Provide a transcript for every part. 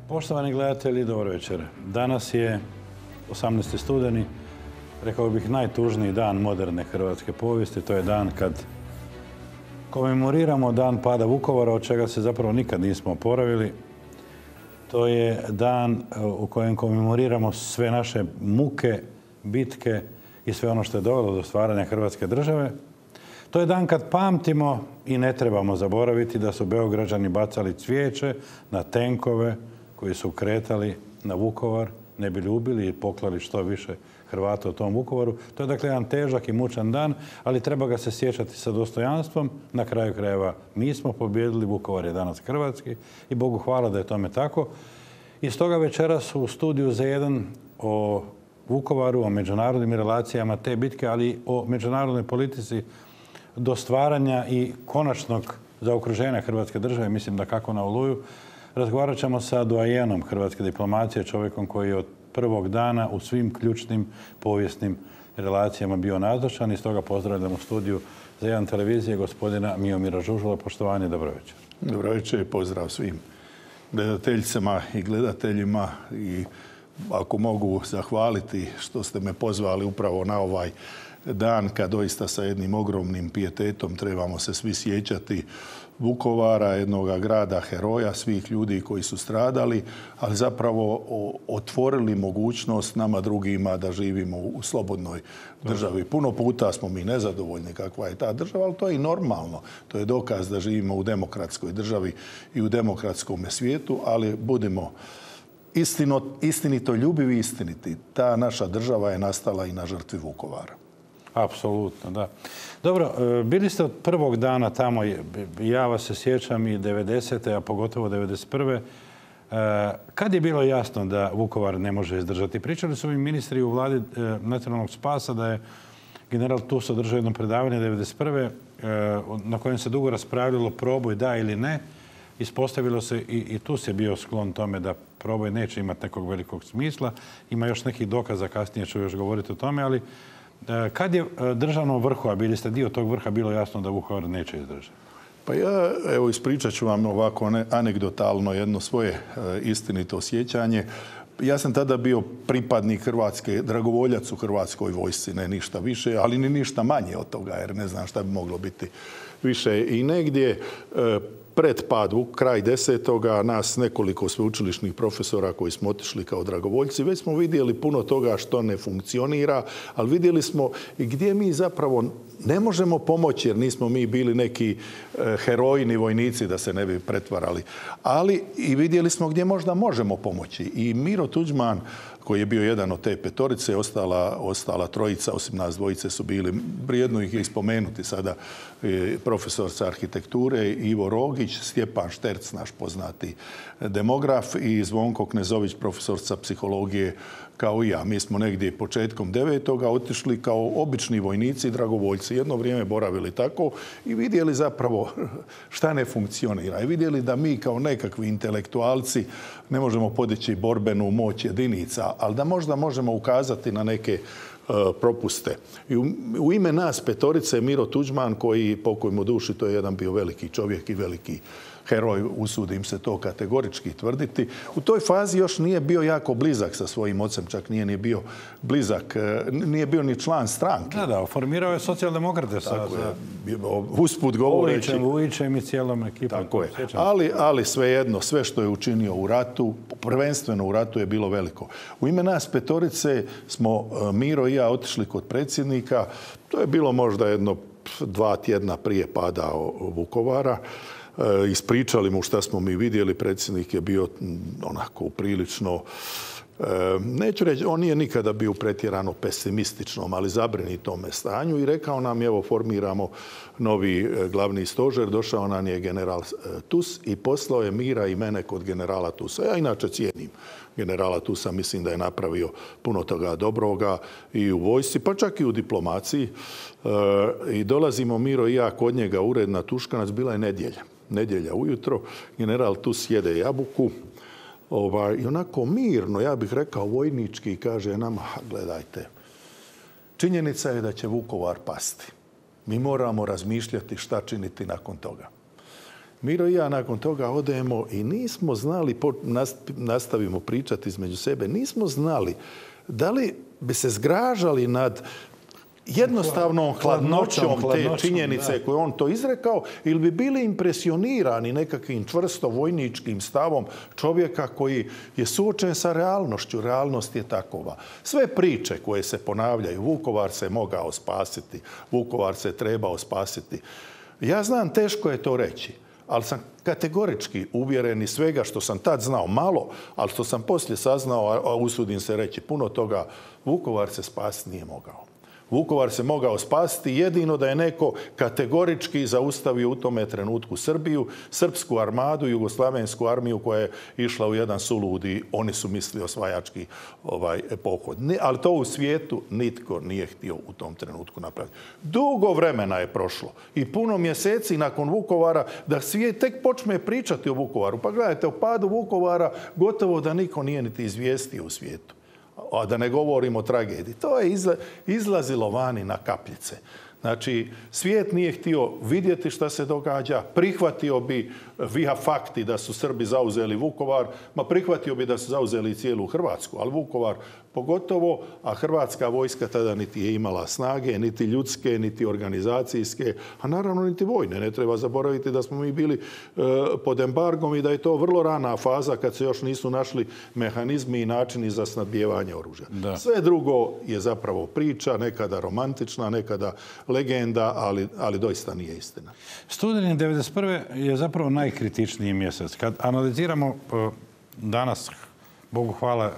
Poštovani gledatelji, dobro večer. Danas je 18. studeni, rekao bih najtužniji dan moderne hrvatske povijesti. To je dan kad komemoriramo dan pada Vukovara, od čega se zapravo nikad nismo oporavili. To je dan u kojem komemoriramo sve naše muke, bitke i sve ono što je dovelo do stvaranja Hrvatske države. To je dan kad pamtimo i ne trebamo zaboraviti da su Beograđani bacali cvijeće na tenkove koji su kretali na Vukovar, ne bi ubili i poklali što više Hrvata u tom Vukovaru. To je dakle jedan težak i mučan dan, ali treba ga se sjećati sa dostojanstvom. Na kraju krajeva mi smo pobijedili, Vukovar je danas hrvatski i Bogu hvala da je tome tako. I stoga večeras u studiju Z1 o Vukovaru, o međunarodnim relacijama te bitke, ali i o međunarodnoj politici do stvaranja i konačnog zaokruženja Hrvatske države, mislim da kako na Oluju, razgovarat ćemo sa doajenom hrvatske diplomacije, čovjekom koji je od prvog dana u svim ključnim povijesnim relacijama bio nazočan i stoga pozdravljam u studiju Z1 televizije gospodina Miomira Žužula. Poštovanje, dobro večer. Dobro večer i pozdrav svim gledateljicama i gledateljima i ako mogu zahvaliti što ste me pozvali upravo na ovaj dan kad doista sa jednim ogromnim pijetetom trebamo se svi sjećati Vukovara, jednoga grada heroja, svih ljudi koji su stradali, ali zapravo otvorili mogućnost nama drugima da živimo u slobodnoj državi. Puno puta smo mi nezadovoljni kakva je ta država, ali to je i normalno. To je dokaz da živimo u demokratskoj državi i u demokratskom svijetu, ali budimo istinito ljubivi i istiniti. Ta naša država je nastala i na žrtvi Vukovara. Apsolutno, da. Dobro, bili ste od prvog dana tamo, ja vas se sjećam i 90. a pogotovo 91. Kad je bilo jasno da Vukovar ne može izdržati? Pričali su mi ministri u vladi nacionalnog spasa da je general Tus održao jedno predavanje 91. Na kojem se dugo raspravljalo proboj da ili ne. Ispostavilo se i Tus je bio sklon tome da proboj neće imati nekog velikog smisla. Ima još nekih dokaza, kasnije ću još govoriti o tome, ali kad je državnom vrhu, a bili ste dio tog vrha, bilo jasno da Vukovar neće izdržati? Pa ja, evo, ispričat ću vam ovako anegdotalno jedno svoje istinito osjećanje. Ja sam tada bio pripadnik Hrvatske, dragovoljac u Hrvatskoj vojsci, ne ništa više, ali ni ništa manje od toga, jer ne znam šta bi moglo biti više. I negdje pred pad, kraj 10. nas nekoliko sveučilišnih profesora koji smo otišli kao dragovoljci, već smo vidjeli puno toga što ne funkcionira, ali vidjeli smo i gdje mi zapravo ne možemo pomoći, jer nismo mi bili neki herojni vojnici da se ne bi pretvarali. Ali i vidjeli smo gdje možda možemo pomoći. I Miro Tuđman, koji je bio jedan od te petorice, ostala trojica, osim nas dvojice su bili, vrijedno ih je spomenuti sada, profesor sa arhitekture Ivo Rogić, Stjepan Šterc, naš poznati demograf, i Zvonko Knezović, profesor sa psihologije, kao i ja. Mi smo negdje početkom 9. otišli kao obični vojnici i dragovoljci. Jedno vrijeme boravili tako i vidjeli zapravo šta ne funkcionira. I vidjeli da mi kao nekakvi intelektualci ne možemo podići borbenu moć jedinica, ali da možda možemo ukazati na neke propuste. I u ime nas petorice Miro Tuđman, koji, pokoj mu duši, to je jedan bio veliki čovjek i veliki heroj, usudim se to kategorički tvrditi. U toj fazi još nije bio jako blizak sa svojim ocem, čak nije ni bio blizak, nije bio ni član stranke. Da, formirao je socijaldemokrate sa usput govoreći. Vujićem i cijelom ekipom. Tako je. Ali svejedno, sve što je učinio u ratu, prvenstveno u ratu, je bilo veliko. U ime nas petorice smo Miro i ja otišli kod predsjednika. To je bilo možda jedno 2 tjedna prije pada Vukovara. Ispričali mu šta smo mi vidjeli. Predsjednik je bio onako prilično, neću reći, on nije nikada bio pretjerano pesimističnom, ali zabrinutome stanju i rekao nam, evo, formiramo novi glavni stožer. Došao nam je general Tus i poslao je Mira i mene kod generala Tusa. Ja inače cijenim generala Tusa, mislim da je napravio puno toga dobroga i u vojsci, pa čak i u diplomaciji. I dolazimo Miro i ja kod njega, ured na Tuškanac, bila je nedjelja ujutro, general Tus jede jabuku i onako mirno, ja bih rekao vojnički, kaže nama, gledajte, činjenica je da će Vukovar pasti. Mi moramo razmišljati šta činiti nakon toga. Miro i ja nakon toga odemo i nismo znali, nastavimo pričati između sebe, nismo znali da li bi se zgražali nad jednostavnom hladnoćom te činjenice koju on to izrekao ili bi bili impresionirani nekakvim čvrsto vojničkim stavom čovjeka koji je suočen sa realnošću. Realnost je takova. Sve priče koje se ponavljaju, Vukovar se mogao spasiti, Vukovar se trebao spasiti. Ja znam, teško je to reći, ali sam kategorički uvjeren iz svega što sam tad znao malo, ali što sam poslije saznao, a usudim se reći puno toga, Vukovar se spasiti nije mogao. Vukovar se mogao spasiti jedino da je neko kategorički zaustavio u tome trenutku Srbiju, srpsku armadu, jugoslavensku armiju koja je išla u jedan suludi, oni su mislili osvajački pohod. Ali to u svijetu nitko nije htio u tom trenutku napraviti. Dugo vremena je prošlo i puno mjeseci nakon Vukovara da svijet tek počne pričati o Vukovaru. Pa gledajte, o padu Vukovara gotovo da niko nije niti izvijestio u svijetu. A da ne govorimo o tragediji. To je izlazilo vani na kapljice. Znači, svijet nije htio vidjeti šta se događa, prihvatio bi via fakti da su Srbi zauzeli Vukovar, prihvatio bi da su zauzeli cijelu Hrvatsku, ali Vukovar pogotovo, a hrvatska vojska tada niti je imala snage, niti ljudske, niti organizacijske, a naravno niti vojne. Ne treba zaboraviti da smo mi bili pod embargom i da je to vrlo rana faza kad se još nisu našli mehanizmi i načini za snabdijevanje oružja. Da. Sve drugo je zapravo priča, nekada romantična, nekada legenda, ali doista nije istina. Studeni 1991. je zapravo najkritičniji mjesec. Kad analiziramo danas, Bogu hvala,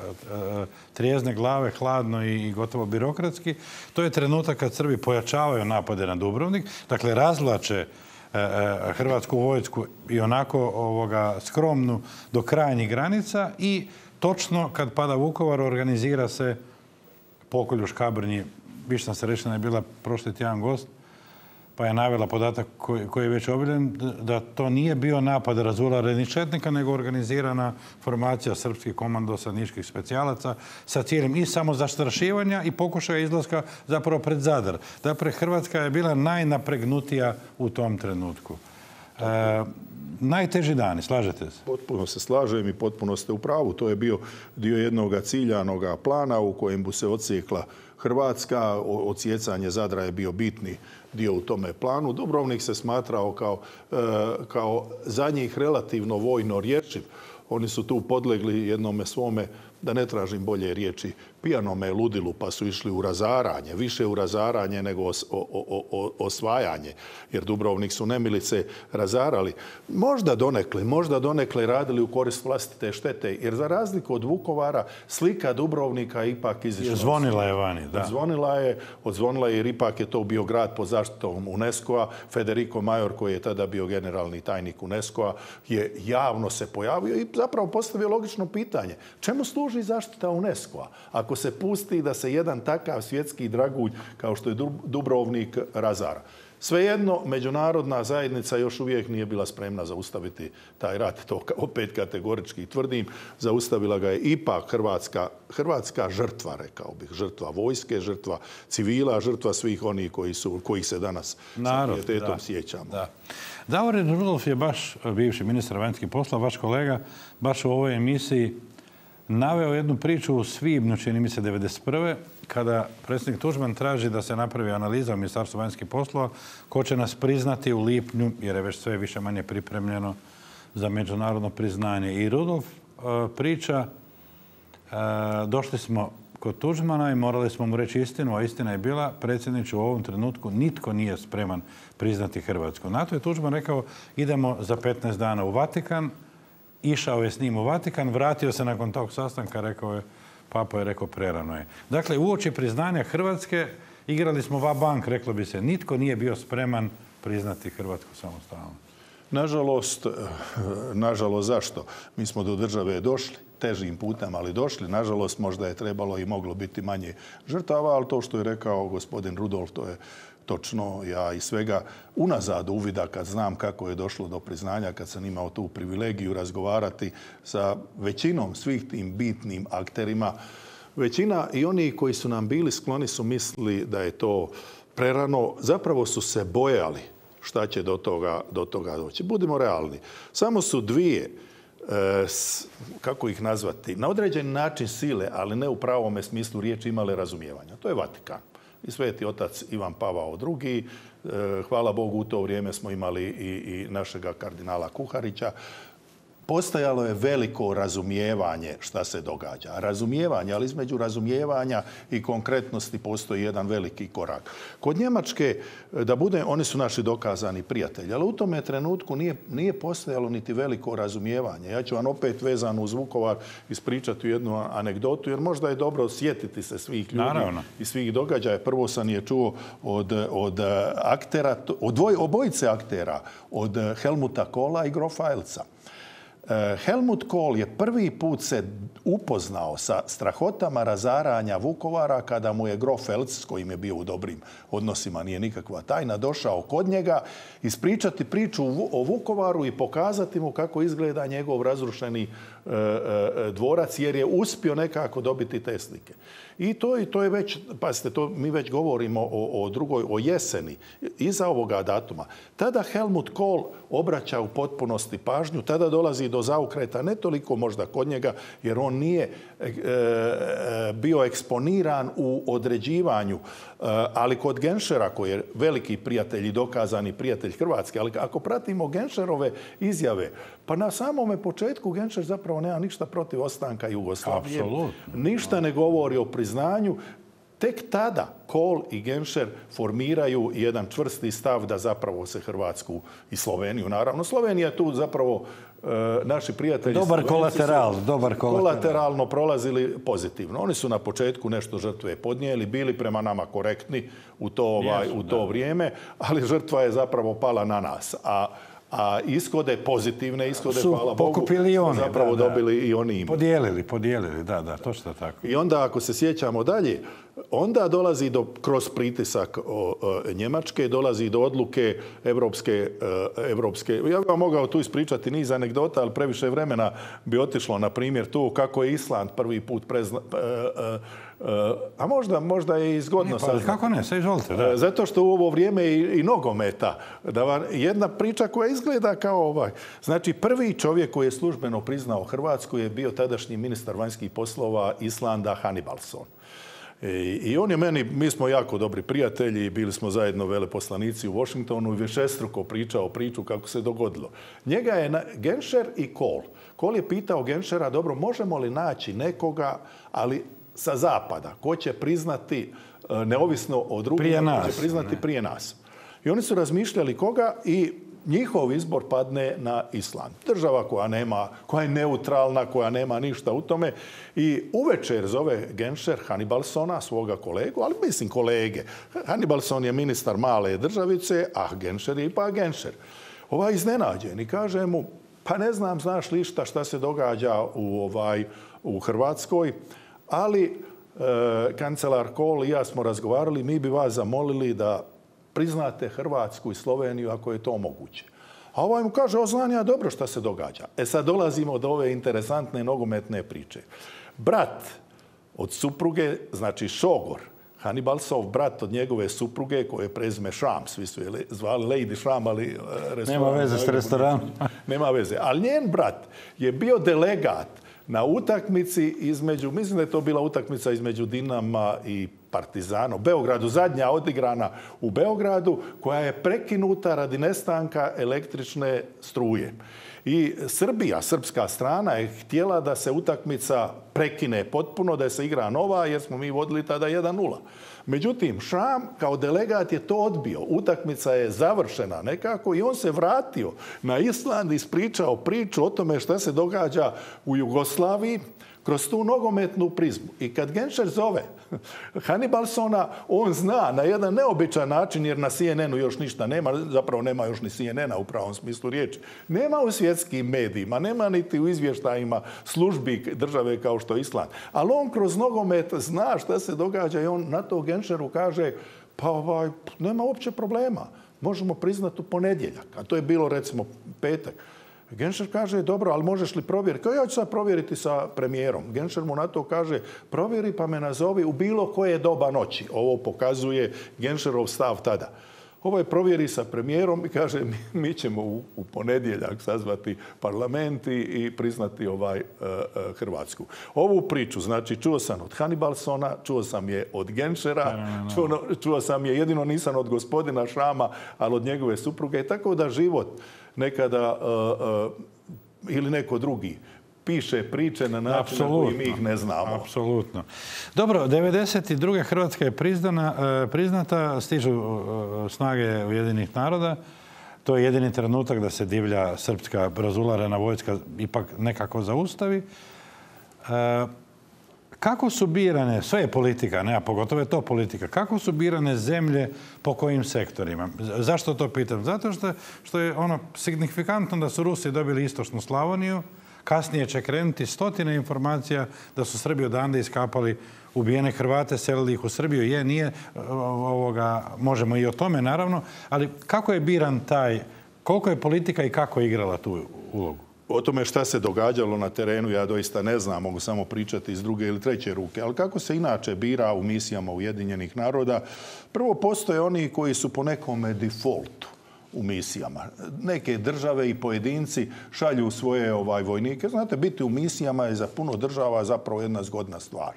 trijezne glave, hladno i gotovo birokratski, to je trenutak kad Srbi pojačavaju napade na Dubrovnik, dakle razvlače hrvatsku vojsku i onako skromnu do krajnjih granica i točno kad pada Vukovar organizira se pokolj u Škabrnji. Više sam se rečena je bila prošli tjedan gost, pa je navela podatak koji je već objavljen, da to nije bio napad razularenih četnika, nego organizirana formacija srpskih komandosa, niških specijalaca sa cijelim i samozastrašivanja i pokušaja izlaska zapravo pred Zadar. Dakle, Hrvatska je bila najnapregnutija u tom trenutku. Najteži dani, slažete se? Potpuno se slažem i potpuno ste u pravu. To je bio dio jednog ciljanog plana u kojem bi se odsjekla Hrvatska. Odsjecanje Zadra je bio bitni dio u tome planu. Dubrovnik se smatrao kao za njih relativno vojno rješiv. Oni su tu podlegli jednome svome, da ne tražim bolje riječi, pijanome ludilu, pa su išli u razaranje, više u razaranje nego osvajanje, jer Dubrovnik su nemilice razarali. Možda donekle radili u korist vlastite štete, jer za razliku od Vukovara, slika Dubrovnika ipak izišla. Zvonila je vani, da. Odzvonila je jer ipak je to bio grad pod zaštitom UNESCO-a. Federico Major, koji je tada bio generalni tajnik UNESCO-a, je javno se pojavio i zapravo postavio logično pitanje. Čemu služi zaštita UNESCO-a ako se pusti da se jedan takav svjetski dragulj kao što je Dubrovnik razara? Svejedno, međunarodna zajednica još uvijek nije bila spremna zaustaviti taj rat. To opet kategorički tvrdim. Zaustavila ga je ipak hrvatska žrtva, rekao bih. Žrtva vojske, žrtva civila, žrtva svih onih kojih se danas sa pijetetom sjećamo. Da. Davorin Rudolf je baš, bivši ministar vanjskih poslova, vaš kolega, baš u ovoj emisiji naveo jednu priču u svibnju, čini mi se 1991. kada predsjednik Tuđman traži da se napravi analiza u Ministarstvu vanjskih poslova ko će nas priznati u lipnju, jer je već sve više manje pripremljeno za međunarodno priznanje. I Rudolf priča, došli smo kod Tuđmana i morali smo mu reći istinu, a istina je bila, predsjedniče, u ovom trenutku nitko nije spreman priznati Hrvatsku. Na to je Tuđman rekao, idemo za 15 dana u Vatikan. Išao je s njim u Vatikan, vratio se nakon tog sastanka, rekao je, Papa je rekao, prerano je. Dakle, uoči priznanja Hrvatske igrali smo va-bank, reklo bi se. Nitko nije bio spreman priznati Hrvatsku samostalno. Nažalost, zašto? Mi smo do države došli, težim putem, ali došli. Nažalost, možda je trebalo i moglo biti manje žrtava, ali to što je rekao gospodin Rudolf, to je točno. Ja i svega unazad uvida kad znam kako je došlo do priznanja, kad sam imao tu privilegiju razgovarati sa većinom svih tim bitnim akterima. Većina i oni koji su nam bili skloni su mislili da je to prerano. Zapravo su se bojali šta će do toga doći. Budimo realni. Samo su dvije, kako ih nazvati, na određeni način sile, ali ne u pravome smislu riječi, imale razumijevanja. To je Vatikan i Sveti otac Ivan Pavao II. Hvala Bogu, u to vrijeme smo imali i našega kardinala Kuharića. Postojalo je veliko razumijevanje šta se događa. Razumijevanje, ali između razumijevanja i konkretnosti postoji jedan veliki korak. Kod Njemačke, oni su naši dokazani prijatelji, ali u tome trenutku nije postojalo niti veliko razumijevanje. Ja ću vam opet vezano uz Vukovar ispričati jednu anegdotu, jer možda je dobro sjetiti se svih ljudi i svih događaja. Prvo sam je čuo od aktera, obojice aktera, od Helmuta Kohla i grofa Elza. Helmut Kohl je prvi put se upoznao sa strahotama razaranja Vukovara kada mu je grof Elz, s kojim je bio u dobrim odnosima, nije nikakva tajna, došao kod njega ispričati priču o Vukovaru i pokazati mu kako izgleda njegov razrušeni dvorac, jer je uspio nekako dobiti te slike. I to je već, pazite, mi već govorimo o jeseni, iza ovoga datuma. Tada Helmut Kohl obraća u potpunosti pažnju, tada dolazi do zaokreta, ne toliko možda kod njega, jer on nije bio eksponiran u određivanju, ali kod Genschera, koji je veliki prijatelj i dokazani prijatelj Hrvatske, ali ako pratimo Genscherove izjave, pa na samome početku Genscher zapravo nema ništa protiv ostanka Jugoslavije. Ništa ne govori o priznanju. Tek tada Kohl i Genscher formiraju jedan čvrsti stav da zapravo se Hrvatsku i Sloveniju, naravno. Slovenija je tu zapravo naši prijatelji dobar kolateralno prolazili pozitivno. Oni su na početku nešto žrtve podnijeli, bili prema nama korektni u to vrijeme, ali žrtva je zapravo pala na nas. A pozitivne ishode, hvala Bogu, zapravo dobili i oni imaju. Podijelili, da, točno tako. I onda, ako se sjećamo dalje, onda dolazi kroz pritisak Njemačke, dolazi do odluke evropske. Ja bih vam mogao tu ispričati niz anegdota, ali previše vremena bi otišlo, na primjer, tu kako je Island prvi put a možda je i zgodno saznati. Kako ne, sve izvolite. Da. Zato što u ovo vrijeme i nogometa. Jedna priča koja izgleda kao Znači, prvi čovjek koji je službeno priznao Hrvatsku je bio tadašnji ministar vanjskih poslova Islanda Hannibalsson. I on je mi smo jako dobri prijatelji, bili smo zajedno veleposlanici u Washingtonu i višestruko pričao priču kako se dogodilo. Njega je Genscher i Kohl. Kohl je pitao Genschera, dobro, možemo li naći nekoga, ali sa zapada, ko će priznati neovisno od drugima, ko će priznati prije nas. I oni su razmišljali koga i njihov izbor padne na Island. Država koja je neutralna, koja nema ništa u tome. I uvečer zove Genscher Hannibalssona, svoga kolegu, ali mislim kolege. Hannibalsson je ministar male državice, a Genscher je ipak Genscher. Iznenađen i kaže mu, pa ne znam, znaš li šta se događa u Hrvatskoj, ali kancelar Kohl i ja smo razgovarali, mi bi vas zamolili da priznate Hrvatsku i Sloveniju ako je to moguće. A ovaj mu kaže, znam ja dobro šta se događa. Sad dolazimo do ove interesantne nogometne priče. Brat od supruge, znači šogor, Hannibalsov brat od njegove supruge, koje je prezime Šram, svi su je zvali Lady Šram, ali nema veze s restoranom. Nema veze. Ali njen brat je bio delegat na utakmici mislim da je to bila utakmica između Dinama i Partizana u Beogradu, zadnja odigrana u Beogradu, koja je prekinuta radi nestanka električne struje. I srpska strana je htjela da se utakmica prekine potpuno, da se igra nova, jer smo mi vodili tada 1:0. Međutim, Šram kao delegat je to odbio. Utakmica je završena nekako i on se vratio na Island i ispričao priču o tome šta se događa u Jugoslaviji kroz tu nogometnu prizmu. I kad Genscher zove Hannibalssona, on zna na jedan neobičan način, jer na CNN-u još ništa nema, zapravo nema još ni CNN-a u pravom smislu riječi. Nema u svjetskim medijima, nema niti u izvještajima službi države kao što je Island. Ali on kroz nogomet zna šta se događa i on na to Genscheru kaže, pa nema uopće problema. Možemo priznati u ponedjeljak. A to je bilo recimo petak. Genscher kaže, dobro, ali možeš li provjeriti? Kao ja ću sad provjeriti sa premijerom. Genscher mu na to kaže, provjeri pa me nazovi u bilo koje doba noći. Ovo pokazuje Genscherov stav tada. Ovaj provjeri sa premijerom i kaže mi ćemo u ponedjeljak sazvati parlament i priznati Hrvatsku. Ovu priču, znači, čuo sam od Hannibalsona, čuo sam je od Genšera, čuo sam je, jedino nisam od gospodina Šrama, ali od njegove supruge. Tako da život nekada ili neko drugi piše priče na način na koji mi ih ne znamo. Apsolutno. Dobro, 1992. Hrvatska je priznata, stižu snage Ujedinjenih naroda. To je jedini trenutak da se divlja srpska razularena vojska ipak nekako zaustavi. Kako su birane, sve je politika, a pogotovo je to politika, kako su birane zemlje po kojim sektorima? Zašto to pitam? Zato što je ono signifikantno da su Rusi dobili istočnu Slavoniju, kasnije će krenuti stotine informacija da su Srbi odande iskapali ubijene Hrvate, selili ih u Srbiju. Je, nije, možemo i o tome naravno, ali kako je biran koliko je politika i kako je igrala tu ulogu? O tome šta se događalo na terenu ja doista ne znam, mogu samo pričati iz druge ili treće ruke. Ali kako se inače bira u misijama Ujedinjenih naroda? Prvo, postoje oni koji su po nekome defaultu u misijama. Neke države i pojedinci šalju svoje vojnike. Znate, biti u misijama je za puno država zapravo jedna zgodna stvar.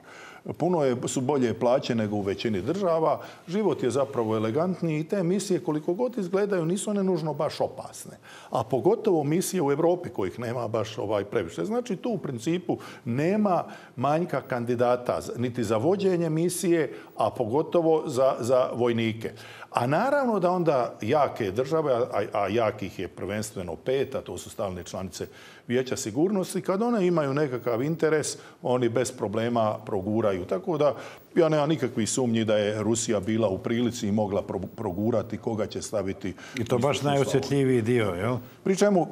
Puno su bolje plaće nego u većini država. Život je zapravo elegantniji i te misije, koliko god izgledaju, nisu one nužno baš opasne. A pogotovo misije u Europi kojih nema baš previše. Znači, tu u principu nema manjka kandidata niti za vođenje misije, a pogotovo za vojnike. A naravno da onda jake države, a jakih je prvenstveno 5, a to su stalne članice Vijeća sigurnosti, kad one imaju nekakav interes, oni bez problema proguraju. Tako da ja nemam nikakvih sumnji da je Rusija bila u prilici i mogla progurati koga će staviti. I to baš najosjetljiviji dio, jel?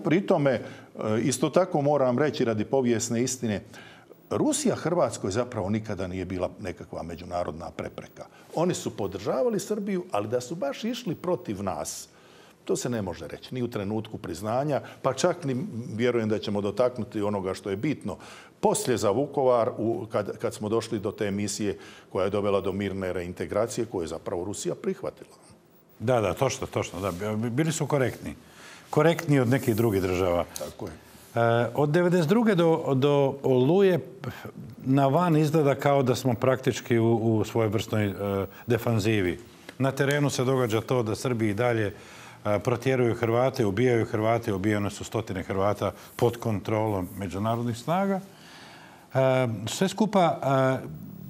Pri tome, isto tako moram reći radi povijesne istine, Rusija Hrvatskoj zapravo nikada nije bila nekakva međunarodna prepreka. Oni su podržavali Srbiju, ali da su baš išli protiv nas, to se ne može reći, ni u trenutku priznanja, pa čak ni vjerujem da ćemo dotaknuti onoga što je bitno. Poslije za Vukovar, kad smo došli do te misije koja je dovela do mirne reintegracije, koju je zapravo Rusija prihvatila. Da, točno. Da. Bili su korektni. Korektniji od nekih drugih država. Tako je. Od 1992. do Oluje na van izgleda kao da smo praktički u svojevrsnoj defanzivi. Na terenu se događa to da Srbi i dalje protjeruju Hrvate, ubijaju Hrvate, ubijene su stotine Hrvata pod kontrolom međunarodnih snaga. Sve skupa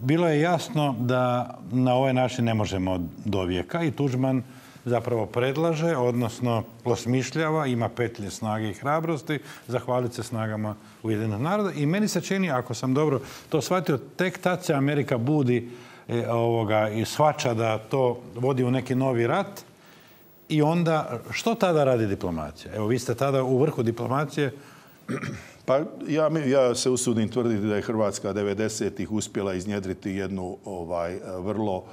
bilo je jasno da na ovaj način ne možemo do vijeka i Tuđman zapravo predlaže, odnosno osmišljava, ima petlje snage i hrabrosti, zahvaliti se snagama Ujedinjenih naroda. I meni se čini, ako sam dobro to shvatio, tek tad se Amerika budi i shvaća da to vodi u neki novi rat. I onda, što tada radi diplomacija? Evo, vi ste tada u vrhu diplomacije. Pa ja se usudim tvrditi da je Hrvatska 90-ih uspjela iznjedriti jednu vrlo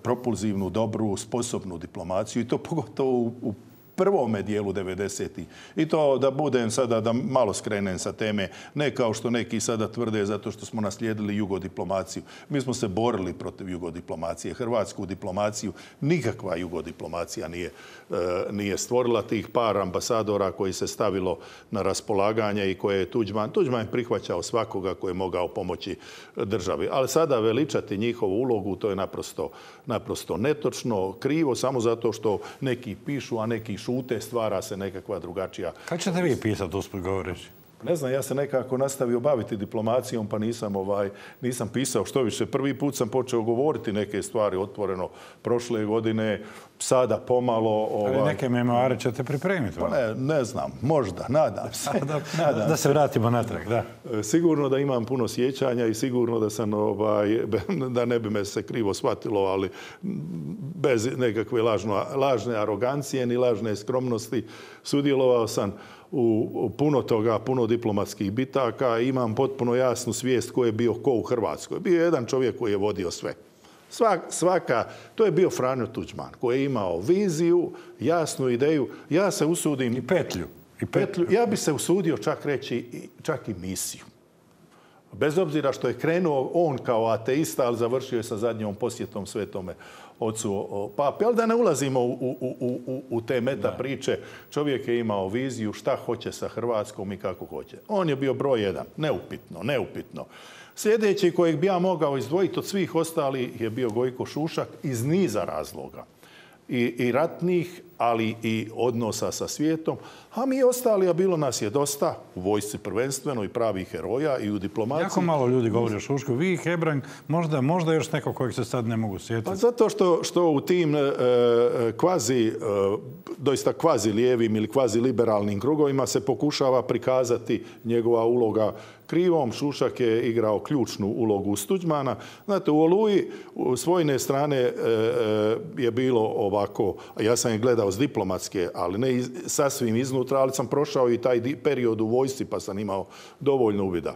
propulzivnu, dobru, sposobnu diplomaciju i to pogotovo u prvome dijelu 90-ih. I to da budem sada, da malo skrenem sa teme, ne kao što neki sada tvrde zato što smo naslijedili jugodiplomaciju. Mi smo se borili protiv jugodiplomacije. Hrvatsku diplomaciju nikakva jugodiplomacija nije stvorila. Tih par ambasadora koji se stavilo na raspolaganje i koje je Tuđman je prihvaćao svakoga koji je mogao pomoći državi. Ali sada veličati njihovu ulogu, to je naprosto netočno, krivo, samo zato što neki pišu, a neki šute, stvara se nekakva drugačija. Kako ćete vi pisati usput govoreći? Ne znam, ja se nekako nastavio baviti diplomacijom, pa nisam pisao što više. Prvi put sam počeo govoriti neke stvari otvoreno prošle godine, sada pomalo... Ali neke memoare ćete pripremiti? Pa ne znam, možda, nadam se. Da se vratimo natrag, da. Sigurno da imam puno sjećanja i sigurno da sam, da ne bi me se krivo shvatilo, ali bez nekakve lažne arogancije ni lažne skromnosti sudjelovao sam u puno toga, puno diplomatskih bitaka. Imam potpuno jasnu svijest ko je bio ko u Hrvatskoj. Bio je jedan čovjek koji je vodio sve. To je bio Franjo Tuđman, koji je imao viziju, jasnu ideju. Ja se usudim... I petlju. Ja bi se usudio čak reći čak i misiju. Bez obzira što je krenuo on kao ateista, ali završio je sa zadnjom posjetom Svetome ocu pape. Ali da ne ulazimo u te meta priče, čovjek je imao viziju šta hoće sa Hrvatskom i kako hoće. On je bio broj jedan, neupitno. Sljedeći kojeg bi ja mogao izdvojiti od svih ostalih je bio Gojko Šušak iz niza razloga. I ratnih, ali i odnosa sa svijetom. A mi ostali, a bilo nas je dosta, u vojsci prvenstveno i pravih heroja i u diplomaciji. Jako malo ljudi govori o Šušku. Vi, Hebrang, možda još neko kojeg se sad ne mogu sjetiti. Pa zato što u tim doista kvazi lijevim ili kvazi liberalnim krugovima se pokušava prikazati njegova uloga krivom. Šušak je igrao ključnu ulogu uz Tuđmana. Znate, u Oluji s vojne strane je bilo ovako, ja sam je gledao s diplomatske, ali ne sasvim iznutra, ali sam prošao i taj period u vojsci pa sam imao dovoljno uvida.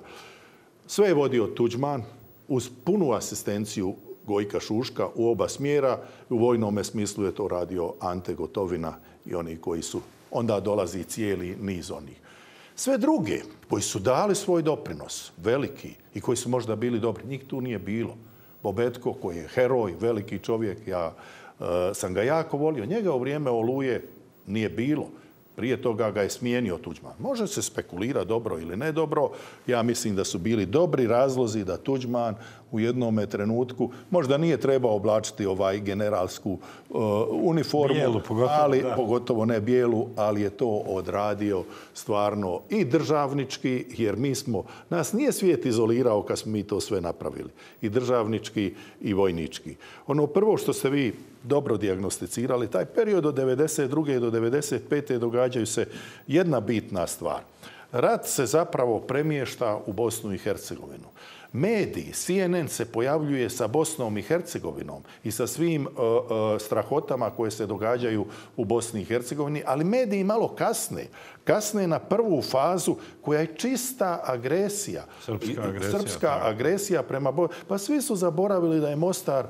Sve je vodio Tuđman uz punu asistenciju Gojka Šuška u oba smjera. U vojnome smislu je to radio Ante Gotovina i oni koji su, onda dolazi cijeli niz onih. Sve druge koji su dali svoj doprinos, veliki, i koji su možda bili dobri, njih tu nije bilo. Bobetko, koji je heroj, veliki čovjek, ja sam ga jako volio. Njega u vrijeme Oluje nije bilo. Prije toga ga je smijenio Tuđman. Može se spekulirati dobro ili ne dobro. Ja mislim da su bili dobri razlozi da Tuđman u jednome trenutku možda nije trebao oblačiti generalsku uniformu, bijelu, pogotovo ne bijelu, ali je to odradio stvarno i državnički, jer nas nije svijet izolirao kad smo mi to sve napravili. I državnički i vojnički. Ono prvo što ste vi dobro dijagnosticirali, taj period od 1992. do 1995. događaju se jedna bitna stvar. Rat se zapravo premješta u Bosnu i Hercegovinu. Mediji, CNN se pojavljuje sa Bosnom i Hercegovinom i sa svim strahotama koje se događaju u Bosni i Hercegovini, ali mediji malo kasne na prvu fazu koja je čista agresija. Srpska agresija prema Bosni. Pa svi su zaboravili da je Mostar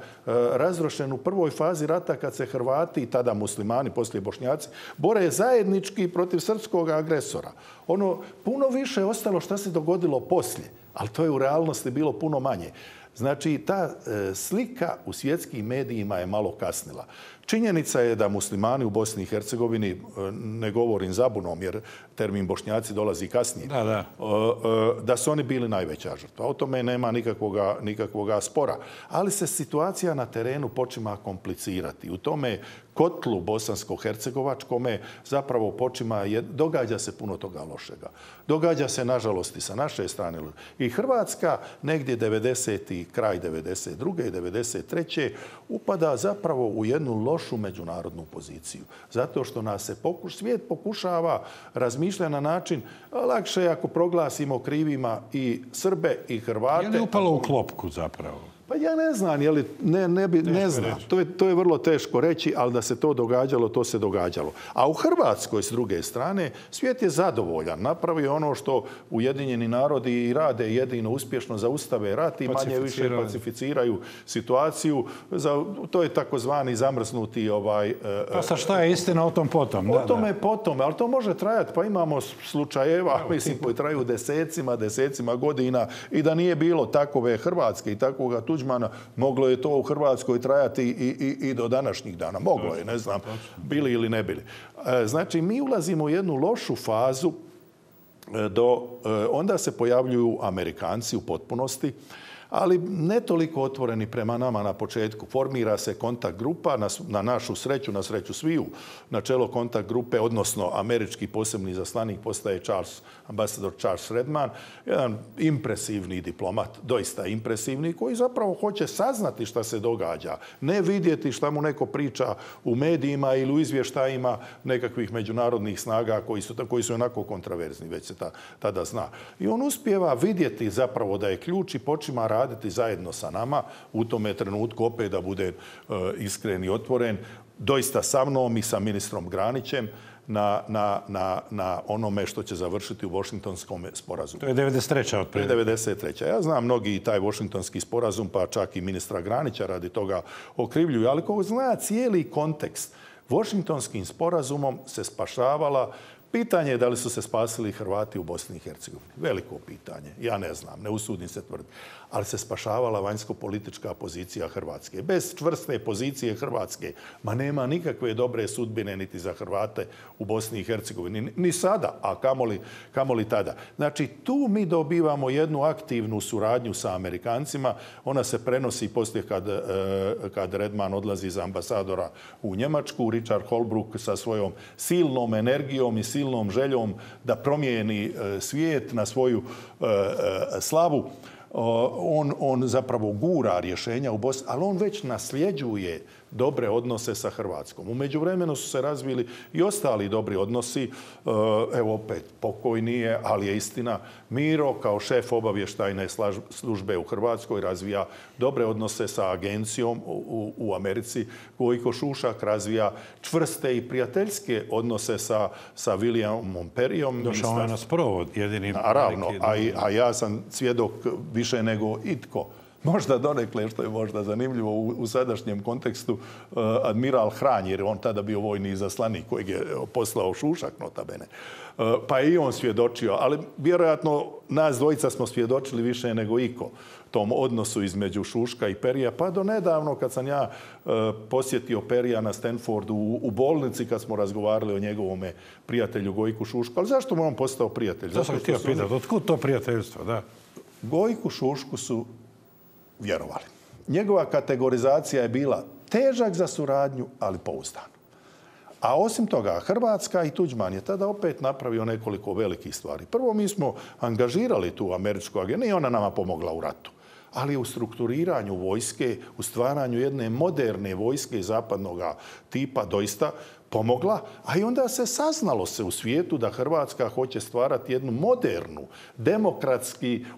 razrušen u prvoj fazi rata kad se Hrvati, tada muslimani, poslije Bošnjaci, bore zajednički protiv srpskog agresora. Ono puno više je ostalo šta se dogodilo poslije. Ali to je u realnosti bilo puno manje. Znači, ta slika u svjetskim medijima je malo kasnila. Činjenica je da muslimani u Bosni i Hercegovini, ne govorim zabunom jer termin Bošnjaci dolazi kasnije, da su oni bili najveća žrtva. O tome nema nikakvoga spora. Ali se situacija na terenu počima komplicirati. U tome kotlu bosansko-hercegovačkome zapravo događa se puno toga lošega. Događa se, nažalost, i sa naše strane. I Hrvatska negdje 90. kraj 92. i 93. upada zapravo u jednu lošu međunarodnu poziciju. Zato što nas se svijet pokušava razmišljati na način lakše ako proglasimo krivima i Srbe i Hrvate. Je li upalo u klopku zapravo? Pa ja ne znam, ne znam. To je vrlo teško reći, ali da se to događalo, to se događalo. A u Hrvatskoj, s druge strane, svijet je zadovoljan. Napravio ono što Ujedinjeni narodi i rade jedino uspješno, zaustave rat i manje više pacificiraju situaciju. To je takozvani zamrznuti... Pa sa šta je istina o tom potom? O tome potom, ali to može trajati. Pa imamo slučajeva, mislim, koji traju desecima godina i da nije bilo takove Hrvatske i takvoga Tuđmana, moglo je to u Hrvatskoj trajati i do današnjih dana. Moglo je, ne znam, bili ili ne bili. Znači, mi ulazimo u jednu lošu fazu, onda se pojavljuju Amerikanci u potpunosti, ali ne toliko otvoreni prema nama na početku. Formira se kontakt grupa, na našu sreću, na sreću sviju, na čelo kontakt grupe, odnosno američki posebni izaslanik postaje ambasador Charles Redman, jedan impresivni diplomat, doista impresivni, koji zapravo hoće saznati šta se događa, ne vidjeti šta mu neko priča u medijima ili u izvještajima nekakvih međunarodnih snaga koji su onako kontraverzni, već se tada zna. I on uspijeva vidjeti zapravo da je ključ i počima raditi zajedno sa nama u tome trenutku, opet da bude iskren i otvoren, doista sa mnom i sa ministrom Granićem na onome što će završiti u Washingtonskom sporazumu. To je 93. otprilike. 93. Ja znam mnogi taj Washingtonski sporazum, pa čak i ministra Granića radi toga okrivljuju, ali ko zna cijeli kontekst, Washingtonskim sporazumom se spašavala Pitanje je da li su se spasili Hrvati u Bosni i Hercegovini. Veliko pitanje. Ja ne znam, ne usudim se tvrditi. Ali se spašavala vanjsko-politička pozicija Hrvatske. Bez čvrste pozicije Hrvatske, ma nema nikakve dobre sudbine niti za Hrvate u Bosni i Hercegovini. Ni sada, a kamoli tada. Znači, tu mi dobivamo jednu aktivnu suradnju sa Amerikancima. Ona se prenosi poslije kad Redman odlazi za ambasadora u Njemačku. Richard Holbrooke sa svojom silnom energijom i silnom željom da promijeni svijet na svoju slavu. On zapravo gura rješenja u Bosni, ali on već nasljeđuje dobre odnose sa Hrvatskom. U međuvremenu su se razvili i ostali dobri odnosi. Evo opet, pokojni je, ali je istina. Miro kao šef obavještajne službe u Hrvatskoj razvija dobre odnose sa agencijom u Americi. Gojko Šušak razvija čvrste i prijateljske odnose sa Williamom Perryom. Došao je na sprovod, jedini. Naravno, a ja sam svjedok više nego itko. Možda donekle, što je možda zanimljivo u sadašnjem kontekstu, admiral Hranj, jer je on tada bio vojni izaslanik kojeg je poslao Šušak, nota bene. Pa je i on svjedočio, ali vjerojatno nas dvojica smo svjedočili više nego iko tom odnosu između Šuška i Perija. Pa do nedavno kad sam ja posjetio Perija na Stanfordu u bolnici, kad smo razgovarali o njegovome prijatelju Gojku Šušku. Ali zašto mu on postao prijatelj? To sam htio pitati, otkud to prijateljstvo, da? Gojku Šušku su vjerovali. Njegova kategorizacija je bila težak za suradnju, ali pouzdan. A osim toga, Hrvatska i Tuđman je tada opet napravio nekoliko velikih stvari. Prvo, mi smo angažirali tu američku agenciju, nije ona nama pomogla u ratu, ali u strukturiranju vojske, u stvaranju jedne moderne vojske zapadnog tipa doista pomogla, a i onda se saznalo se u svijetu da Hrvatska hoće stvarati jednu modernu,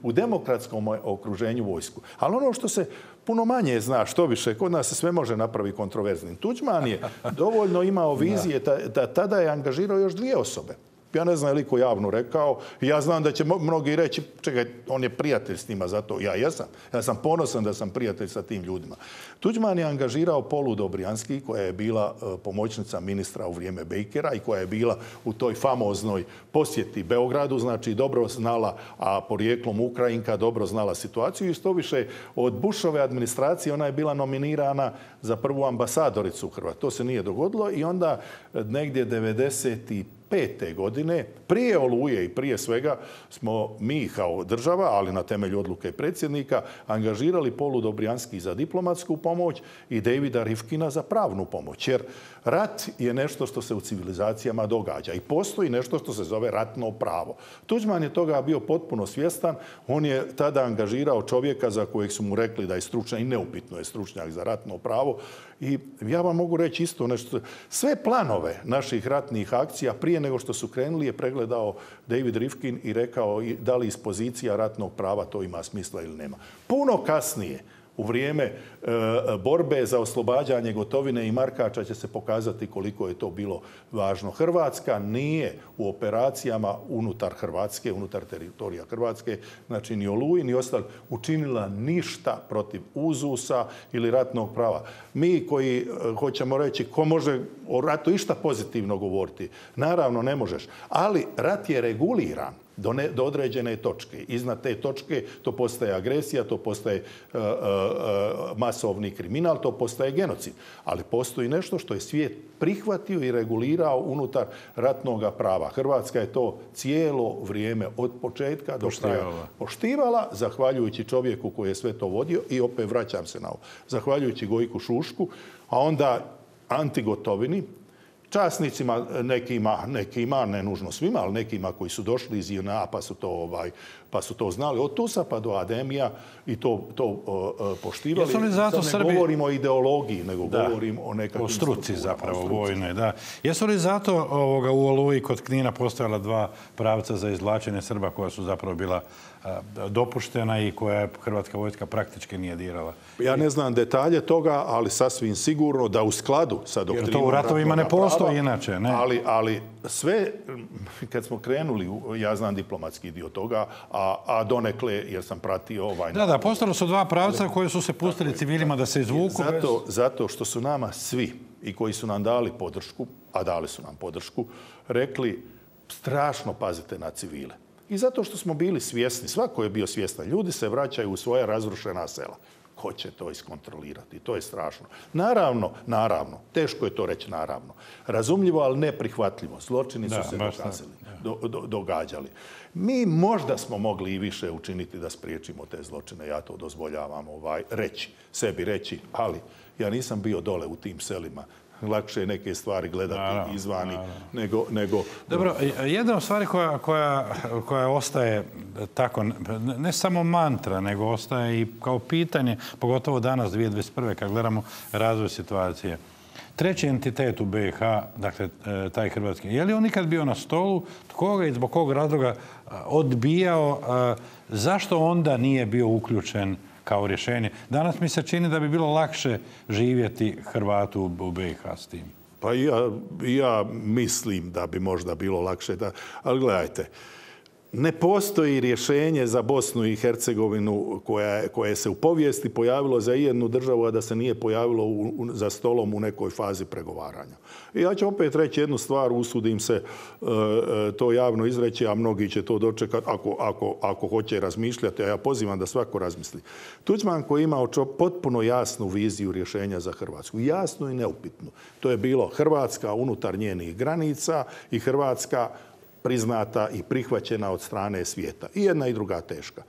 u demokratskom okruženju vojsku. Ali ono što se puno manje zna, što više, kod nas se sve može napraviti kontroverznim. Tuđman je dovoljno imao vizije da tada je angažirao još 2 osobe. Ja ne znam je li ko javno rekao. Ja znam da će mnogi reći, čekaj, on je prijatelj s njima, zato ja jesam. Ja sam ponosan da sam prijatelj sa tim ljudima. Tuđman je angažirao Polu Dobrijanski, koja je bila pomoćnica ministra u vrijeme Bakera i koja je bila u toj famoznoj posjeti Beogradu, znači dobro znala, a porijeklom Ukrajinka, dobro znala situaciju i što više od Bushove administracije ona je bila nominirana za prvu ambasadoricu u Hrvatskoj. To se nije dogodilo i onda negdje 95. godine, prije Oluje i prije svega, smo mi kao država, ali na temelju odluke predsjednika, angažirali Polu Dobrijanski za diplomatsku pomoć i Davida Rifkina za pravnu pomoć. Jer rat je nešto što se u civilizacijama događa i postoji nešto što se zove ratno pravo. Tuđman je toga bio potpuno svjestan. On je tada angažirao čovjeka za kojeg su mu rekli da je stručnjak i neupitno je stručnjak za ratno pravo. I ja vam mogu reći isto nešto. Sve planove naših ratnih akcija prije nego što su krenuli je pregledao David Rifkin i rekao da li iz pozicija ratnog prava to ima smisla ili nema. Puno kasnije, u vrijeme borbe za oslobađanje Gotovine i Markača će se pokazati koliko je to bilo važno. Hrvatska nije u operacijama unutar Hrvatske, unutar teritorija Hrvatske, znači ni Oluji ni ostali, učinila ništa protiv uzusa ili ratnog prava. Mi koji hoćemo reći ko može o ratu išta pozitivno govoriti, naravno ne možeš, ali rat je reguliran do određene točke. Iznad te točke to postaje agresija, to postaje masovni kriminal, to postaje genocid. Ali postoji nešto što je svijet prihvatio i regulirao unutar ratnog prava. Hrvatska je to cijelo vrijeme od početka do kraja poštivala, zahvaljujući čovjeku koji je sve to vodio i opet vraćam se na ovo. Zahvaljujući Gojku Šušku, a onda Anti Gotovini, časnicima, nekima, ne nužno svima, ali nekima koji su došli iz JNA pa su to znali od Tusa pa do Ademija i to poštivali. Sad ne govorimo o ideologiji, nego govorimo o nekakvim... O struci zapravo, vojne, da. Jesu li zato u Oluji kod Knina postojala 2 pravca za izvlačenje Srba koja su zapravo bila dopuštena i koja Hrvatska vojska praktički nije dirala? Ja ne znam detalje toga, ali sasvim sigurno da u skladu sa doktrinom... Jer to u ratovima ne postoji inače, ne? Ali sve, kad smo krenuli, ja znam diplomatski dio toga, a donekle, jer sam pratio ovaj... Da, postojalo su 2 pravca koje su se pustili civilima da se izvuku. Zato što su nama svi i koji su nam dali podršku, a dali su nam podršku, rekli strašno pazite na civile. I zato što smo bili svjesni, svako je bio svjestan, ljudi se vraćaju u svoja razrušena sela. Ko će to iskontrolirati? To je strašno. Naravno, teško je to reći naravno. Razumljivo, ali neprihvatljivo. Zločini su se događali. Mi možda smo mogli i više učiniti da spriječimo te zločine. Ja to dozvoljavam sebi reći, ali ja nisam bio dole u tim selima. Lakše je neke stvari gledati izvani nego... Dobro, jedna od stvari koja ostaje tako, ne samo mantra, nego ostaje i kao pitanje, pogotovo danas, 2021. kad gledamo razvoj situacije. Treći entitet u BiH, dakle, taj hrvatski, je li on nikad bio na stolu? Tko ga i zbog kog razloga odbijao? Zašto onda nije bio uključen kao rješenje? Danas mi se čini da bi bilo lakše živjeti Hrvatu u BiH s tim. Pa ja mislim da bi možda bilo lakše. Ali gledajte, ne postoji rješenje za Bosnu i Hercegovinu koje se u povijesti pojavilo za jednu državu, a da se nije pojavilo za stolom u nekoj fazi pregovaranja. I ja ću opet reći jednu stvar, usudim se to javno izreći, a mnogi će to dočekati ako hoće razmišljati, a ja pozivam da svako razmisli. Tuđman koji je imao potpuno jasnu viziju rješenja za Hrvatsku, jasnu i neupitnu. To je bilo Hrvatska unutar njenih granica i Hrvatska priznata i prihvaćena od strane svijeta. I jedna i druga teška.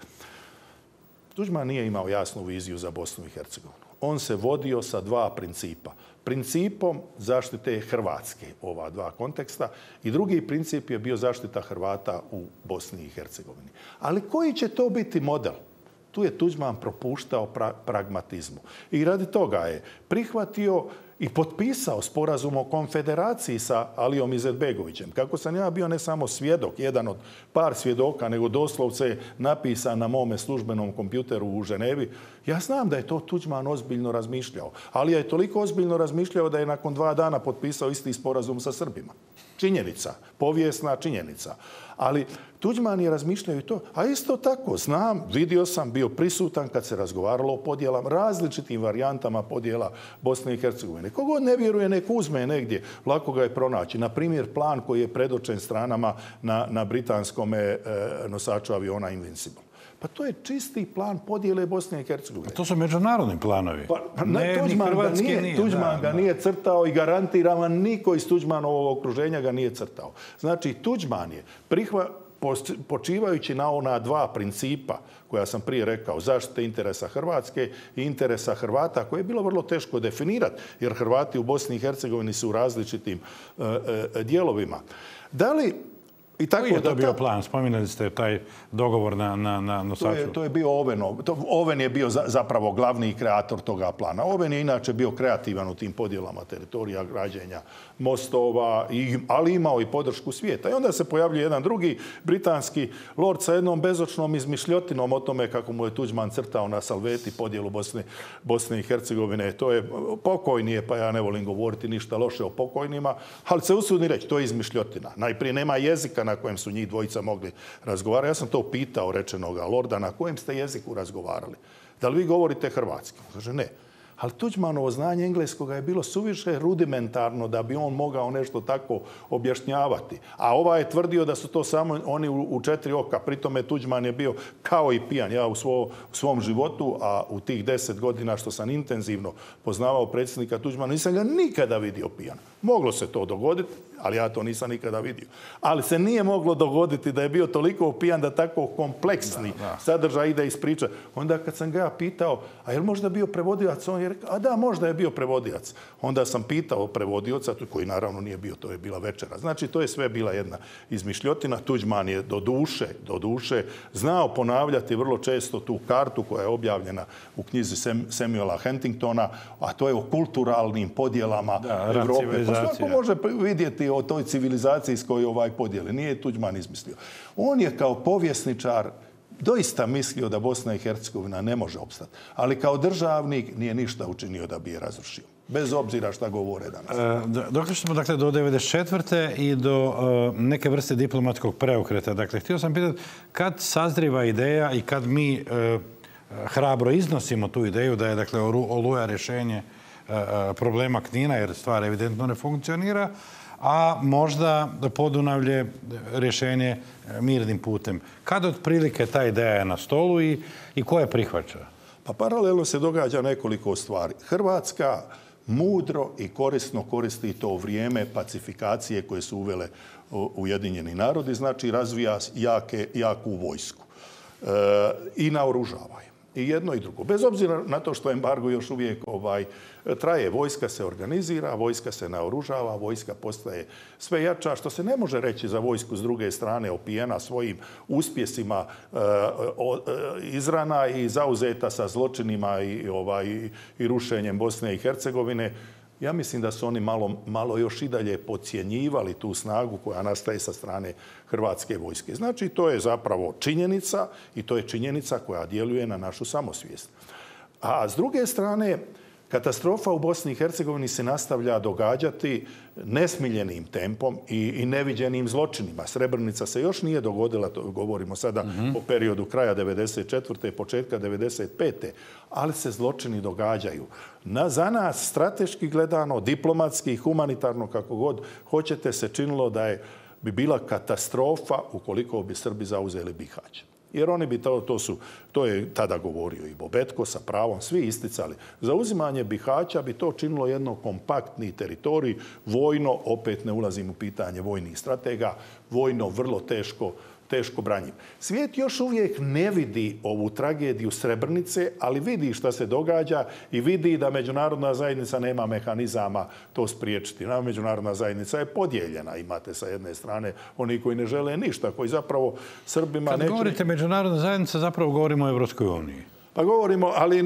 Tuđman nije imao jasnu viziju za Bosnu i Hercegovinu. On se vodio sa dva principa. Principom zaštite Hrvatske, ova dva konteksta, i drugi princip je bio zaštita Hrvata u Bosni i Hercegovini. Ali koji će to biti model? Tu je Tuđman propuštao pragmatizmu. I radi toga je prihvatio i potpisao sporazum o konfederaciji sa Alijom Izetbegovićem. Kako sam ja bio ne samo svjedok, jedan od par svjedoka, nego doslovce napisan na mome službenom kompjuteru u Ženevi, ja znam da je to Tuđman ozbiljno razmišljao. Alija je toliko ozbiljno razmišljao da je nakon 2 dana potpisao isti sporazum sa Srbima. Činjenica, povijesna činjenica. Ali Tuđman je razmišljao i to. A isto tako, znam, vidio sam, bio prisutan kad se razgovaralo o podjelama, različitim varijantama podjela Bosne i Hercegovine. Kogod ne vjeruje, nek uzme negdje, lako ga je pronaći. Na primjer, plan koji je predočen stranama na britanskom nosaču aviona Invincible. Pa to je čisti plan podjele Bosne i Hercegovine. To su međunarodni planovi. Tuđman ga nije crtao i garantiram vam niko iz Tuđmanovog okruženja ga nije crtao. Znači, Tuđman je počivajući na ona dva principa koja sam prije rekao, zaštite interesa Hrvatske i interesa Hrvata, koje je bilo vrlo teško definirati, jer Hrvati u Bosni i Hercegovini su u različitim dijelovima. Da li koji je to bio plan? Spominjali ste taj dogovor na nosaču. To je bio Ovenov. Oven je bio zapravo glavni kreator toga plana. Oven je inače bio kreativan u tim podjelama teritorija, građenja mostova, ali imao i podršku svijeta. I onda se pojavljuje jedan drugi britanski lord sa jednom bezočnom izmišljotinom o tome kako mu je Tuđman crtao na salveti podjelu Bosne i Hercegovine. To je pokojnije, pa ja ne volim govoriti ništa loše o pokojnima, ali se usudim reći, to je izmišljotina. Najprije nema jezika na kojem su njih dvojica mogli razgovarati. Ja sam to pitao rečenoga lorda, na kojem ste jeziku razgovarali? Da li vi govorite hrvatski? Kaže, ne. Ali Tuđmanovo znanje engleskoga je bilo suviše rudimentarno da bi on mogao nešto tako objašnjavati. A ovaj je tvrdio da su to samo oni u 4 oka. Pritome Tuđman je bio kao i pijan. Ja u svom životu, a u tih 10 godina što sam intenzivno poznavao predsjednika Tuđmana, nisam ga nikada vidio pijan. Moglo se to dogoditi, ali ja to nisam nikada vidio. Ali se nije moglo dogoditi da je bio toliko pijan da tako kompleksni sadržaj ide ispričati. Onda kad sam ga ja pitao, a je li možda bio prevodilac, on je rekao, a da, možda je bio prevodilac. Onda sam pitao prevodioca, koji naravno nije bio, to je bila večera. Znači, to je sve bila jedna izmišljotina. Tuđman je do duše znao ponavljati vrlo često tu kartu koja je objavljena u knjizi Samuela Huntingtona, a to je o kulturalnim podjelama Europe. Pa svako može vidjeti o toj civilizaciji s kojoj podjeli. Nije Tuđman izmislio. On je kao povjesničar doista mislio da Bosna i Hercegovina ne može opstati. Ali kao državnik nije ništa učinio da bi je razrušio. Bez obzira šta govore danas. Došli smo dakle do 1994. i do neke vrste diplomatskog preokreta. Dakle, htio sam pitati kad sazriva ideja i kad mi hrabro iznosimo tu ideju da je dakle Oluja rješenje problema Knina, jer stvar evidentno ne funkcionira, a možda Podunavlje rješenje mirnim putem. Kada otprilike ta ideja je na stolu i ko je prihvaća? Pa paralelno se događa nekoliko stvari. Hrvatska mudro i korisno koristi to vrijeme pacifikacije koje su uvele Ujedinjeni narodi, znači razvija jaku vojsku i naoružava je. I jedno i drugo. Bez obzira na to što embargo još uvijek traje, vojska se organizira, vojska se naoružava, vojska postaje sve jača, što se ne može reći za vojsku s druge strane opijena svojim uspjesima izrana i zauzeta sa zločinima i rušenjem Bosne i Hercegovine. Ja mislim da su oni malo još i dalje podcjenjivali tu snagu koja nastaje sa strane Hrvatske vojske. Znači, to je zapravo činjenica i to je činjenica koja djeluje na našu samosvijest. A s druge strane, katastrofa u Bosni i Hercegovini se nastavlja događati nesmiljenim tempom i neviđenim zločinima. Srebrenica se još nije dogodila, to govorimo sada o periodu kraja 1994. početka 1995. Ali se zločini događaju. Za nas, strateški gledano, diplomatski, humanitarno, kako god hoćete, se činilo da bi bila katastrofa ukoliko bi Srbi zauzeli Bihać. Jer oni bi to je tada govorio i Bobetko sa pravom, svi isticali. Zauzimanje Bihaća bi to činilo jedno kompaktni teritorij, vojno, opet ne ulazim u pitanje vojnih stratega, vojno vrlo teško branjiv. Svijet još uvijek ne vidi ovu tragediju Srebrenice, ali vidi šta se događa i vidi da međunarodna zajednica nema mehanizama to spriječiti. Međunarodna zajednica je podijeljena. Imate sa jedne strane oni koji ne žele ništa, koji zapravo Srbima neće... Kad govorite međunarodna zajednica, zapravo govorimo o Evropskoj uniji. Pa govorimo, ali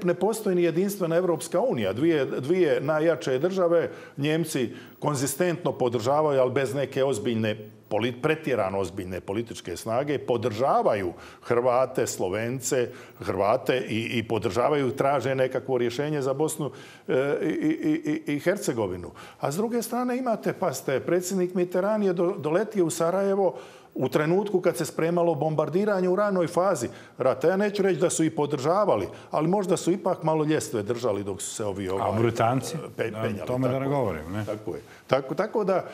ne postoji ni jedinstvena Evropska unija. Dvije najjače države, Njemci konzistentno podržavaju, ali bez neke pretjerano ozbiljne političke snage, podržavaju Hrvate, Slovence, Hrvate i podržavaju, traže nekakvo rješenje za Bosnu i Hercegovinu. A s druge strane imate, predsjednik Mitterrand je doletio u Sarajevo u trenutku kad se spremalo bombardiranje u ranoj fazi rata. Ja neću reći da su i podržavali, ali možda su ipak malo ljestve držali dok su se ovi Britanci? penjali. Tome da ne govorim. Ne? Tako je. Tako da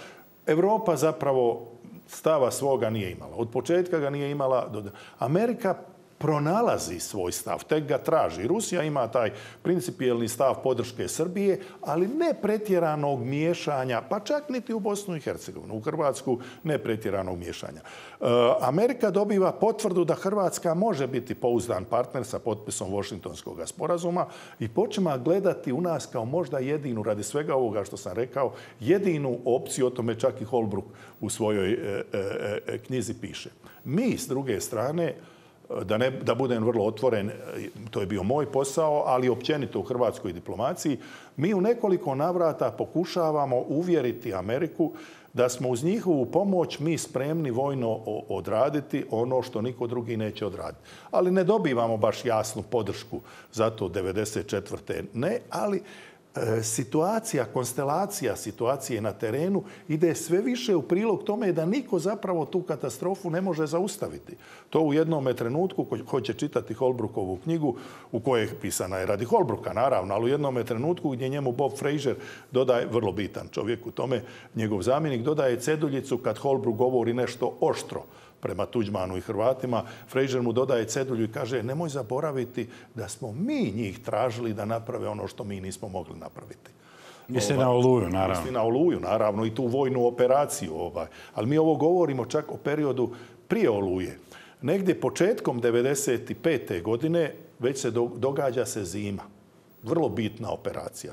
Europa zapravo stava svoga nije imala. Od početka ga nije imala. Amerika pronalazi svoj stav, tek ga traži. Rusija ima taj principijelni stav podrške Srbije, ali ne pretjeranog miješanja, pa čak niti u Bosnu i Hercegovinu. U Hrvatsku ne pretjeranog miješanja. Amerika dobiva potvrdu da Hrvatska može biti pouzdan partner sa potpisom Washingtonskog sporazuma i počima gledati u nas kao možda jedinu, radi svega ovoga što sam rekao, jedinu opciju, o tome čak i Holbrooke u svojoj knjizi piše. Mi, s druge strane, da budem vrlo otvoren, to je bio moj posao, ali općenito u hrvatskoj diplomaciji, mi u nekoliko navrata pokušavamo uvjeriti Ameriku da smo uz njihovu pomoć mi spremni vojno odraditi ono što niko drugi neće odraditi. Ali ne dobivamo baš jasnu podršku za to 1994. Ne, ali situacija, konstelacija situacije na terenu ide sve više u prilog tome da niko zapravo tu katastrofu ne može zaustaviti. To u jednom trenutku, ko hoće čitati Holbrookovu knjigu, u kojoj je pisana je radi Holbrooka, naravno, ali u jednom trenutku gdje njemu Bob Fraser dodaje, vrlo bitan čovjek u tome, njegov zamjenik, dodaje ceduljicu kad Holbrook govori nešto oštro prema Tuđmanu i Hrvatima, Fraser mu dodaje cedulju i kaže nemoj zaboraviti da smo mi njih tražili da naprave ono što mi nismo mogli napraviti. Misli na Oluju, naravno. Misli na Oluju, naravno, i tu vojnu operaciju. Ali mi ovo govorimo čak o periodu prije Oluje. Negdje početkom 1995. godine već se događa se zima. Vrlo bitna operacija.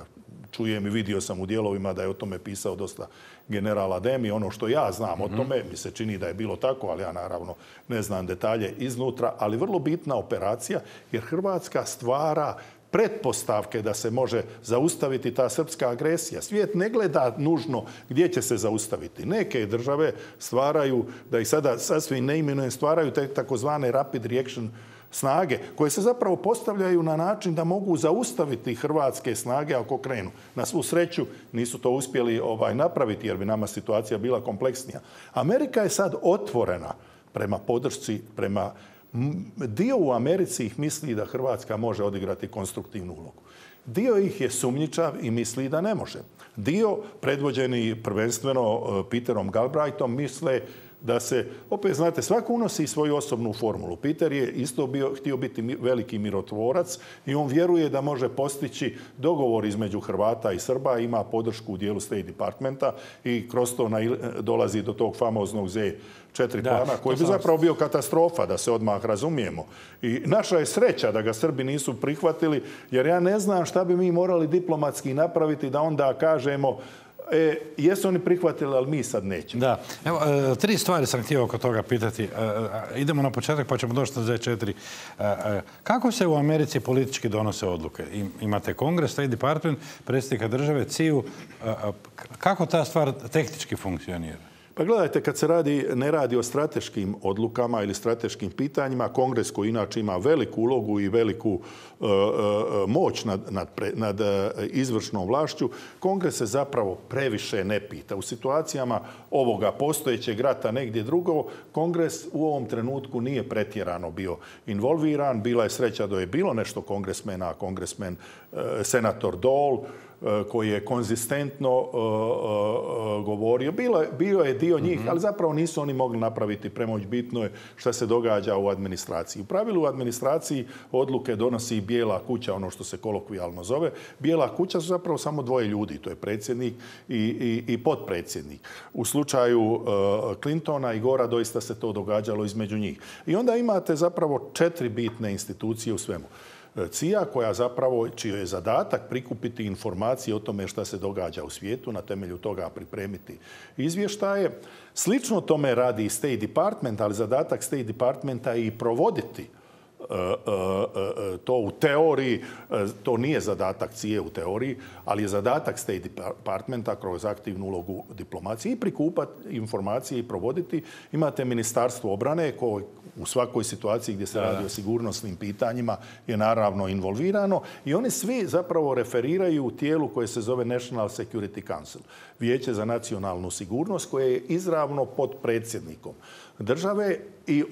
Čujem i vidio sam u dijelovima da je o tome pisao dosta general Ademi. Ono što ja znam o tome, mi se čini da je bilo tako, ali ja naravno ne znam detalje iznutra, ali vrlo bitna operacija jer Hrvatska stvara pretpostavke da se može zaustaviti ta srpska agresija. Svijet ne gleda nužno gdje će se zaustaviti. Neke države stvaraju, da ih sada sasvim ne imenujem, stvaraju te takozvane rapid reaction snage, koje se zapravo postavljaju na način da mogu zaustaviti hrvatske snage ako krenu. Na svu sreću nisu to uspjeli napraviti jer bi nama situacija bila kompleksnija. Amerika je sad otvorena prema podršci, dio u Americi ih misli da Hrvatska može odigrati konstruktivnu ulogu. Dio ih je sumnjičav i misli da ne može. Dio, predvođeni prvenstveno Peterom Galbraithom, misle da se, opet znate, svako unosi svoju osobnu formulu. Peter je isto htio biti veliki mirotvorac i on vjeruje da može postići dogovor između Hrvata i Srba, ima podršku u dijelu State Departmenta i kroz to dolazi do tog famoznog Z4 plana, koji bi zapravo bio katastrofa, da se odmah razumijemo. I naša je sreća da ga Srbi nisu prihvatili, jer ja ne znam šta bi mi morali diplomatski napraviti da onda kažemo jesu oni prihvatili, ali mi sad nećemo. Da. Evo, 3 stvari sam htio oko toga pitati. Idemo na početak pa ćemo doći na Z4. Kako se u Americi politički donose odluke? Imate Kongres, State Department, predsjednika države, CIA-u. Kako ta stvar tehnički funkcionira? Pa gledajte, kad se ne radi o strateškim odlukama ili strateškim pitanjima, Kongres koji inače ima veliku ulogu i veliku moć nad izvršnom vlašću, Kongres se zapravo previše ne pita. U situacijama ovoga postojećeg rata negdje drugo, Kongres u ovom trenutku nije pretjerano bio involviran. Bila je sreća da je bilo nešto kongresmena, senator Dole, koji je konzistentno govorio. Bio je dio njih, ali zapravo nisu oni mogli napraviti premoć. Bitno je šta se događa u administraciji. U pravilu u administraciji odluke donosi Bijela kuća, ono što se kolokvijalno zove. Bijela kuća su zapravo samo 2 ljudi. To je predsjednik i potpredsjednik. U slučaju Clintona i Gora doista se to događalo između njih. I onda imate zapravo 4 bitne institucije u svemu. CIA koja zapravo, čiji je zadatak prikupiti informacije o tome šta se događa u svijetu, na temelju toga pripremiti izvještaje. Slično tome radi i State Department, ali zadatak State Departmenta je i provoditi to u teoriji. To nije zadatak CIA u teoriji, ali je zadatak State Departmenta kroz aktivnu ulogu diplomacije i prikupati informacije i provoditi. Imate Ministarstvo obrane koje u svakoj situaciji gdje se radi o sigurnosnim pitanjima je naravno involvirano i oni svi zapravo referiraju u tijelu koje se zove National Security Council, Vijeće za nacionalnu sigurnost, koje je izravno pod predsjednikom države i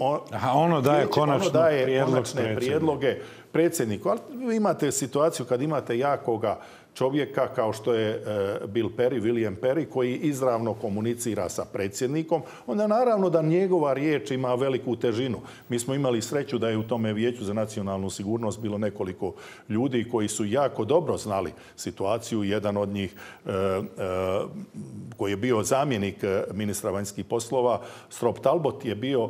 ono daje konačne prijedloge predsjedniku. Ali vi imate situaciju kad imate jakoga čovjeka kao što je William Perry, koji izravno komunicira sa predsjednikom, onda naravno da njegova riječ ima veliku težinu. Mi smo imali sreću da je u tome Vijeću za nacionalnu sigurnost bilo nekoliko ljudi koji su jako dobro znali situaciju. Jedan od njih koji je bio zamjenik ministra vanjskih poslova, Strop Talbot, je bio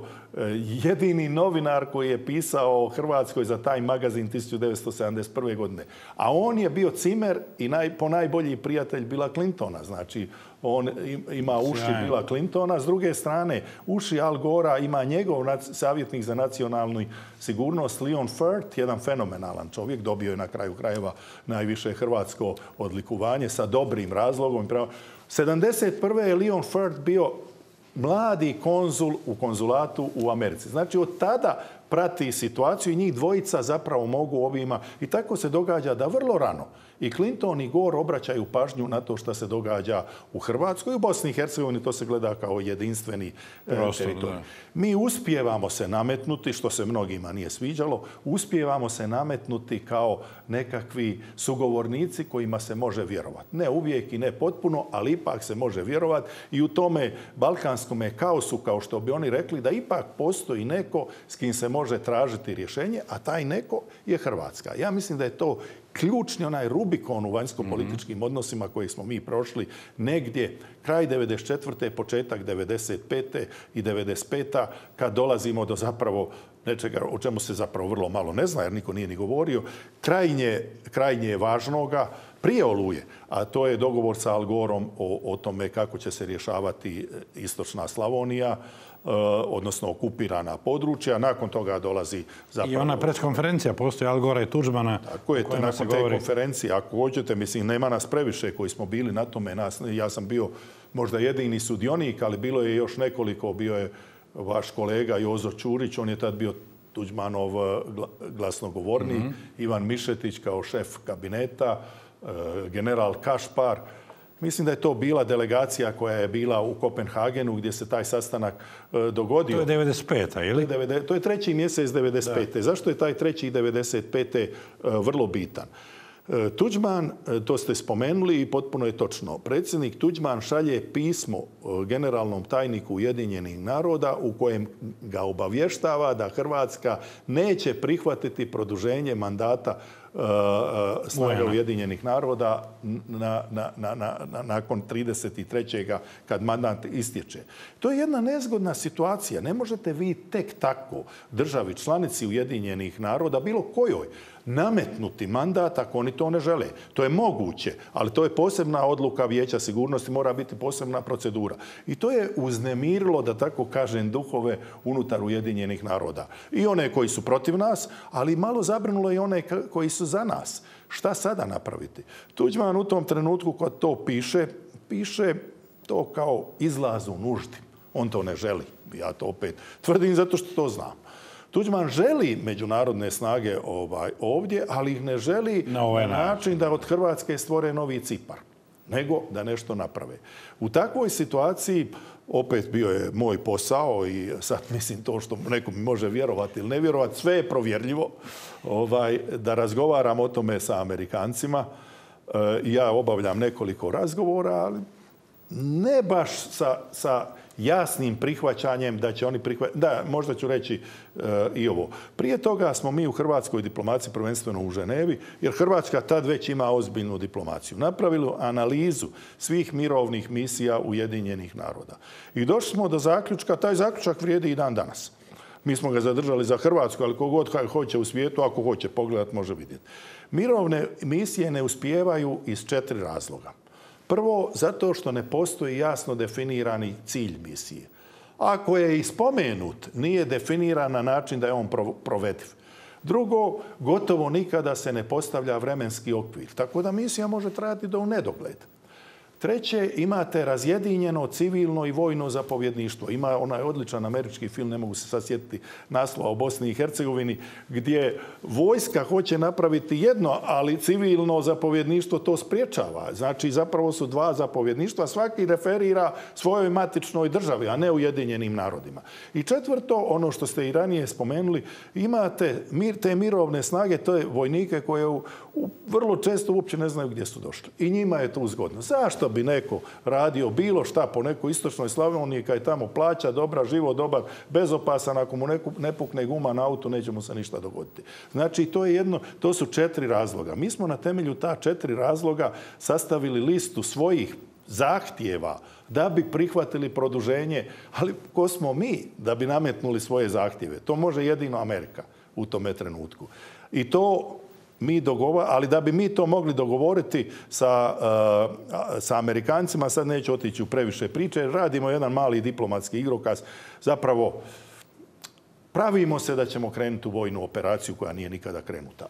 jedini novinar koji je pisao o Hrvatskoj za Time magazin 1971. godine. A on je bio cimer i ponajbolji prijatelj Billa Clintona. Znači, on ima uši Billa Clintona. S druge strane, uši Al Gora ima njegov savjetnik za nacionalnu sigurnost, Leon Furt, jedan fenomenalan čovjek. Dobio je na kraju krajeva najviše hrvatsko odlikovanje sa dobrim razlogom. 1971. je Leon Furt bio mladi konzul u konzulatu u Americi. Znači, od tada prati situaciju i njih dvojica zapravo mogu ovima. I tako se događa da vrlo rano i Clinton i Gore obraćaju pažnju na to što se događa u Hrvatskoj. U Bosni i Hercegovini to se gleda kao jedinstveni teritorij. Mi uspijevamo se nametnuti, što se mnogima nije sviđalo, uspijevamo se nametnuti kao nekakvi sugovornici kojima se može vjerovati. Ne uvijek i ne potpuno, ali ipak se može vjerovati i u tome balkanskom kaosu, kao što bi oni rekli, da ipak postoji neko s kim se može tražiti rješenje, a taj neko je Hrvatska. Ja mislim da je to ključni onaj Rubikon u vanjsko-političkim odnosima koji smo mi prošli negdje kraj 1994. početak 1995. i 1995. kad dolazimo do zapravo nečega o čemu se zapravo vrlo malo ne zna, jer niko nije ni govorio, krajnje važnoga prije Oluje, a to je dogovor sa Al Gorom o tome kako će se rješavati istočna Slavonija, odnosno okupirana područja. Nakon toga dolazi zapravo... I ona preskonferencija postoji Al Gora i Tuđmana. Tako je, nakon te konferencije, ako hoćete, mislim, nema nas previše koji smo bili na tome. Ja sam bio možda jedini sudionik, ali bilo je još nekoliko. Bio je vaš kolega Jozo Ćurić, on je tad bio Tuđmanov glasnogovornik, Ivan Mišetić kao šef kabineta, general Kašpar. Mislim da je to bila delegacija koja je bila u Kopenhagenu gdje se taj sastanak dogodio. To je 95. ili? To je 3. mjesec 95. Zašto je taj 3. 95. vrlo bitan? Tuđman, to ste spomenuli i potpuno je točno. Predsjednik Tuđman šalje pismo generalnom tajniku Ujedinjenih naroda u kojem ga obavještava da Hrvatska neće prihvatiti produženje mandata snaga Ujedinjenih naroda nakon 33. kad mandat istječe. To je jedna nezgodna situacija. Ne možete vi tek tako državi članici Ujedinjenih naroda, bilo kojoj, nametnuti mandat ako oni to ne žele. To je moguće, ali to je posebna odluka Vijeća sigurnosti, mora biti posebna procedura. I to je uznemirilo, da tako kažem, duhove unutar Ujedinjenih naroda. I one koji su protiv nas, ali malo zabrinulo i one koji su za nas. Šta sada napraviti? Tuđman u tom trenutku kad to piše to kao izlaz u nuždi. On to ne želi. Ja to opet tvrdim zato što to znam. Tuđman želi međunarodne snage ovdje, ali ih ne želi na način da od Hrvatske stvore novi Cipar, nego da nešto naprave. U takvoj situaciji opet bio je moj posao i sad mislim to što neko mi može vjerovati ili ne vjerovati, sve je provjerljivo, da razgovaram o tome sa Amerikancima. Ja obavljam nekoliko razgovora, ali ne baš sa jasnim prihvaćanjem da će oni prihvatiti. Da, možda ću reći i ovo. Prije toga smo mi u hrvatskoj diplomaciji, prvenstveno u Ženevi, jer Hrvatska tad već ima ozbiljnu diplomaciju, napravili analizu svih mirovnih misija Ujedinjenih naroda. I došli smo do zaključka, taj zaključak vrijedi i dan danas. Mi smo ga zadržali za Hrvatsku, ali kogod hoće u svijetu, ako hoće pogledati, može vidjeti. Mirovne misije ne uspijevaju iz 4 razloga. Prvo, zato što ne postoji jasno definirani cilj misije. Ako je i spomenut, nije definiran na način da je on provediv. Drugo, gotovo nikada se ne postavlja vremenski okvir. Tako da misija može trajati do u nedogled. Treće, imate razjedinjeno civilno i vojno zapovjedništvo. Ima onaj odličan američki film, ne mogu se sad sjetiti naslova, o Bosni i Hercegovini, gdje vojska hoće napraviti jedno, ali civilno zapovjedništvo to spriječava. Znači, zapravo su 2 zapovjedništva, svaki referira svojoj matičnoj državi, a ne Ujedinjenim narodima. I četvrto, ono što ste i ranije spomenuli, imate te mirovne snage, to je vojnike koje vrlo često uopće ne znaju gdje su došli. I njima je to zgodno. Zašto bi neko radio bilo šta po nekoj istočnoj Slavoniji kad je tamo plaća dobra, život dobar, bezopasan, ako mu ne pukne guma na auto, neće mu se ništa dogoditi. Znači, to su 4 razloga. Mi smo na temelju ta 4 razloga sastavili listu svojih zahtjeva da bi prihvatili produženje, ali ko smo mi da bi nametnuli svoje zahtjeve? To može jedino Amerika u tome trenutku. I to mi ali da bi mi to mogli dogovoriti sa Amerikancima, sad neću otići u previše priče, radimo jedan mali diplomatski igrokaz. Zapravo, pravimo se da ćemo krenuti u vojnu operaciju koja nije nikada krenuta.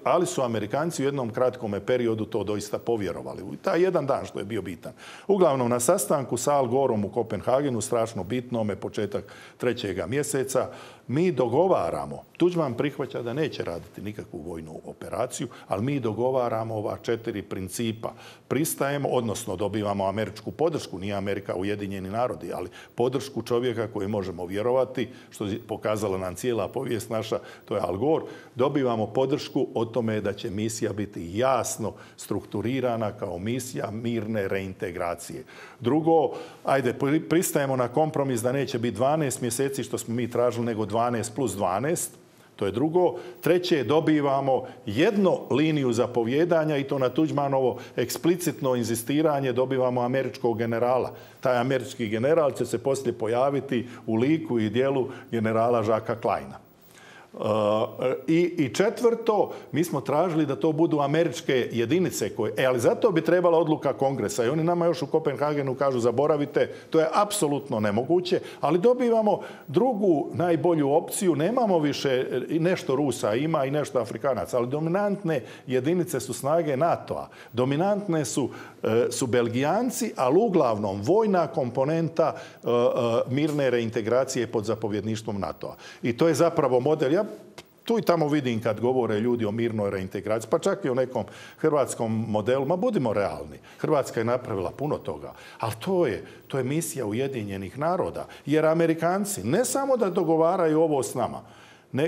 Ali su Amerikanci u jednom kratkom periodu to doista povjerovali. Taj jedan dan što je bio bitan. Uglavnom, na sastanku sa Al Gorom u Kopenhagenu, strašno bitnome, početak 3. mjeseca, mi dogovaramo, Tuđman prihvaća da neće raditi nikakvu vojnu operaciju, ali mi dogovaramo ova 4 principa. Pristajemo, odnosno dobivamo američku podršku, nije Amerika Ujedinjeni narodi, ali podršku čovjeka koji možemo vjerovati, što je pokazala nam cijela povijest naša, to je Al Gore. Dobivamo podršku o tome da će misija biti jasno strukturirana kao misija mirne reintegracije. Drugo, pristajemo na kompromis da neće biti 12 mjeseci što smo mi tražili, nego 12 plus 12. To je drugo. Treće, dobivamo jednu liniju zapovjedanja i to na Tuđmanovo eksplicitno inzistiranje dobivamo američkog generala. Taj američki general će se poslije pojaviti u liku i djelu generala Žaka Kleina. I četvrto, mi smo tražili da to budu američke jedinice, ali zato bi trebala odluka Kongresa. I oni nama još u Kopenhagenu kažu zaboravite, to je apsolutno nemoguće, ali dobivamo drugu najbolju opciju, nemamo više, nešto Rusa ima i nešto Afrikanaca, ali dominantne jedinice su snage NATO-a. Dominantne su Belgijanci, ali uglavnom vojna komponenta mirne reintegracije pod zapovjedništvom NATO-a. I to je zapravo model. Ja tu i tamo vidim kad govore ljudi o mirnoj reintegraciji, pa čak i o nekom hrvatskom modelu. Ma budimo realni. Hrvatska je napravila puno toga. Ali to je misija Ujedinjenih naroda. Jer Amerikanci ne samo da dogovaraju ovo s nama,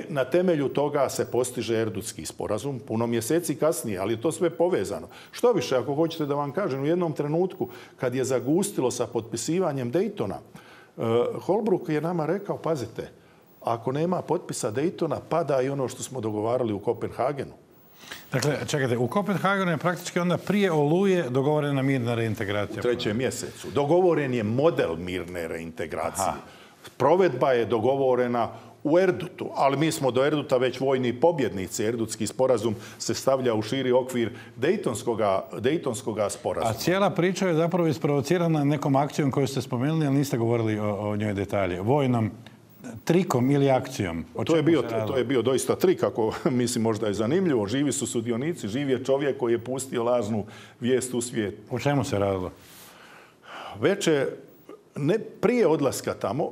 Na temelju toga se postiže Erdutski sporazum, puno mjeseci kasnije, ali je to sve povezano. Što više, ako hoćete da vam kažem, u jednom trenutku kad je zagustilo sa potpisivanjem Daytona, Holbrooke je nama rekao, pazite, ako nema potpisa Daytona, pada i ono što smo dogovarali u Kopenhagenu. Dakle, čekajte, u Kopenhagenu je praktički onda prije Oluje dogovorena mirna reintegracija. U 3. mjesecu. Dogovoren je model mirne reintegracije. Provedba je dogovorena u Erdutu, ali mi smo do Erduta već vojni pobjednici. Erdutski sporazum se stavlja u širi okvir Daytonskoga sporazuma. A cijela priča je zapravo isprovocirana nekom akcijom koju ste spomenuli, ali niste govorili o njoj detalje. Vojnom trikom ili akcijom. To je bio doista trik, ako mislim možda je zanimljivo. Živi su sudionici, živ je čovjek koji je pustio lažnu vijest u svijet. O čemu se radilo? Već je, prije odlaska tamo,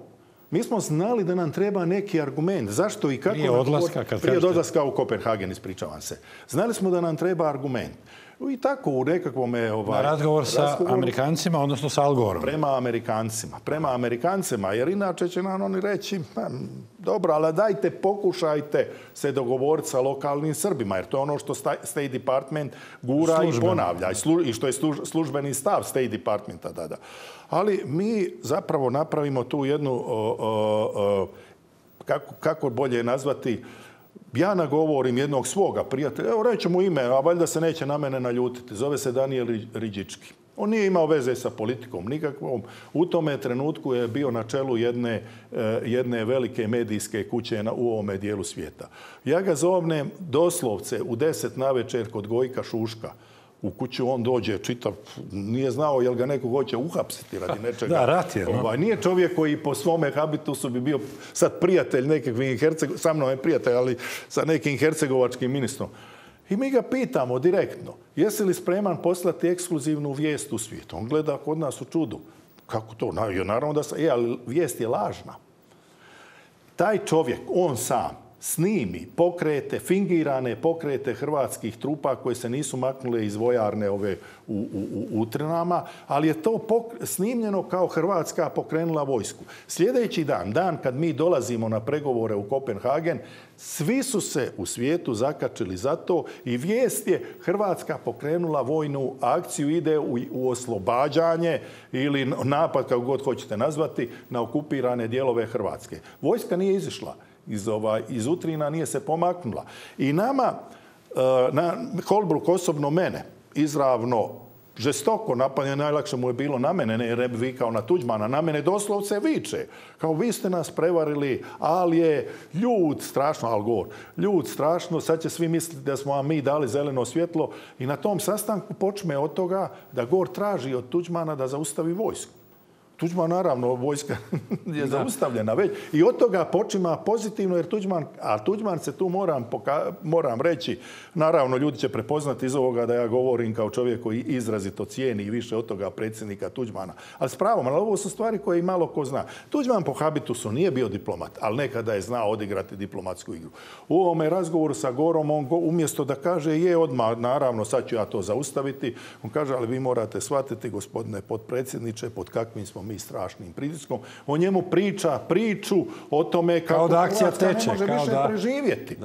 mi smo znali da nam treba neki argument. Zašto i kako? Prije odlaska u Kopenhagen, ispričavam se. Znali smo da nam treba argument. I tako u nekakvom... razgovor sa Amerikancima, odnosno sa Al Goreom. Prema Amerikancima, jer inače će nam oni reći dobro, ali dajte, pokušajte se dogovoriti sa lokalnim Srbima, jer to je ono što State Department gura i ponavlja. I što je službeni stav State Departmenta. Da. Ali mi zapravo napravimo tu jednu, kako bolje nazvati, ja nagovorim jednog svoga prijatelja, evo reći mu ime, a valjda se neće na mene naljutiti. Zove se Danijel Ridžički. On nije imao veze sa politikom nikakvom. U tome trenutku je bio na čelu jedne velike medijske kuće u ovome dijelu svijeta. Ja ga zovnem doslovce u 10 navečer kod Gojka Šuška. U kuću on dođe, čitav, nije znao jel ga neko hoće uhapsiti radi nečega. Da, rat je. Nije čovjek koji po svome habitusu bi bio sad prijatelj nekakvih sa mnom je prijatelj, ali sa nekim hercegovačkim ministrom. I mi ga pitamo direktno, jesi li spreman poslati ekskluzivnu vijest u svijet? On gleda kod nas u čudu. Kako to? Naravno da sam, ali vijest je lažna. Taj čovjek, on sam, snimi pokrete, fingirane pokrete hrvatskih trupa koje se nisu maknule iz vojarne ove u Utrinama, ali je to snimljeno kao Hrvatska pokrenula vojsku. Sljedeći dan kad mi dolazimo na pregovore u Kopenhagen, svi su se u svijetu zakačili za to i vijest je Hrvatska pokrenula vojnu akciju, ide u oslobađanje ili napad, kako god hoćete nazvati, na okupirane dijelove Hrvatske. Vojska nije izišla iz Utrina, nije se pomaknula. I nama, Holbrooke osobno mene, izravno žestoko napadanje, najlakše mu je bilo na mene, ne jer bi vikao na Tuđmana, na mene doslovce viče. Kao vi ste nas prevarili, ali je ljud strašno, Al Gore, ljud strašno, sad će svi misliti da smo vam mi dali zeleno svjetlo. I na tom sastanku počne od toga da Gore traži od Tuđmana da zaustavi vojsku. Tuđman, naravno, vojska je zaustavljena već. I od toga počima pozitivno, jer Tuđman se tu moram reći, naravno, ljudi će prepoznati iz ovoga da ja govorim kao čovjek koji izrazito cijeni i više od toga predsjednika Tuđmana. Ali s pravom, ali ovo su stvari koje i malo ko zna. Tuđman po habitusu nije bio diplomat, ali nekada je znao odigrati diplomatsku igru. U ovome razgovoru sa Gorom, on umjesto da kaže je odmah, naravno, sad ću ja to zaustaviti, on kaže, ali vi morate shvatiti, gospodine potpredsjedniče, pod kakvim smo mi strašnim pritiskom. O njemu priču o tome kako Hrvatska ne može više preživjeti.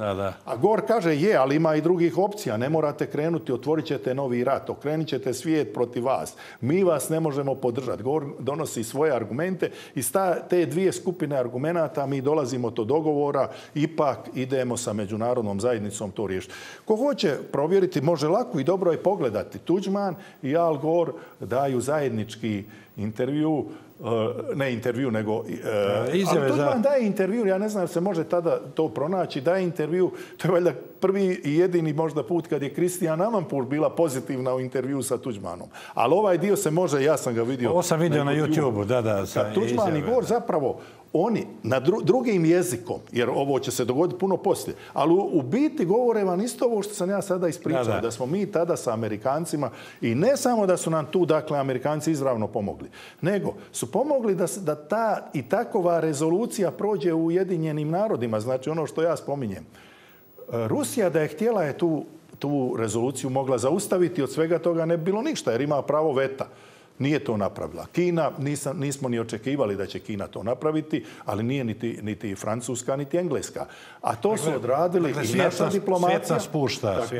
A Gore kaže, ali ima i drugih opcija. Ne morate krenuti, otvorit ćete novi rat, okrenit ćete svijet protiv vas. Mi vas ne možemo podržati. Gore donosi svoje argumente i te dvije skupine argumenata mi dolazimo do dogovora, ipak idemo sa međunarodnom zajednicom to riješiti. Ko hoće provjeriti, može lako i dobro je pogledati. Tuđman i Al Gore daju zajednički intervju, ne intervju, nego... izjave ali Tuđman daje intervju, ja ne znam se može tada to pronaći, daje intervju, to je valjda prvi i jedini možda put kad je Kristijan Amanpour bila pozitivna u intervju sa Tuđmanom. Ali ovaj dio se može, ja sam ga vidio... Ovo sam vidio na YouTube-u, da. Kad Tuđman i Gore zapravo, oni na drugim jezikom, jer ovo će se dogoditi puno poslije, ali u biti govore vam isto ovo što sam ja sada ispričao, da smo mi tada sa Amerikancima i ne samo da su nam tu, dakle, Amerikanci izravno pomogli, nego su pomogli da ta i takova rezolucija prođe u Ujedinjenim narodima, znači ono što ja spominjem. Rusija da je htjela tu rezoluciju mogla zaustaviti, od svega toga ne bi bilo ništa, jer ima pravo veta. Nije to napravila. Kina, nismo ni očekivali da će Kina to napraviti, ali nije niti Francuska, niti Engleska. A to su odradili i naša diplomacija.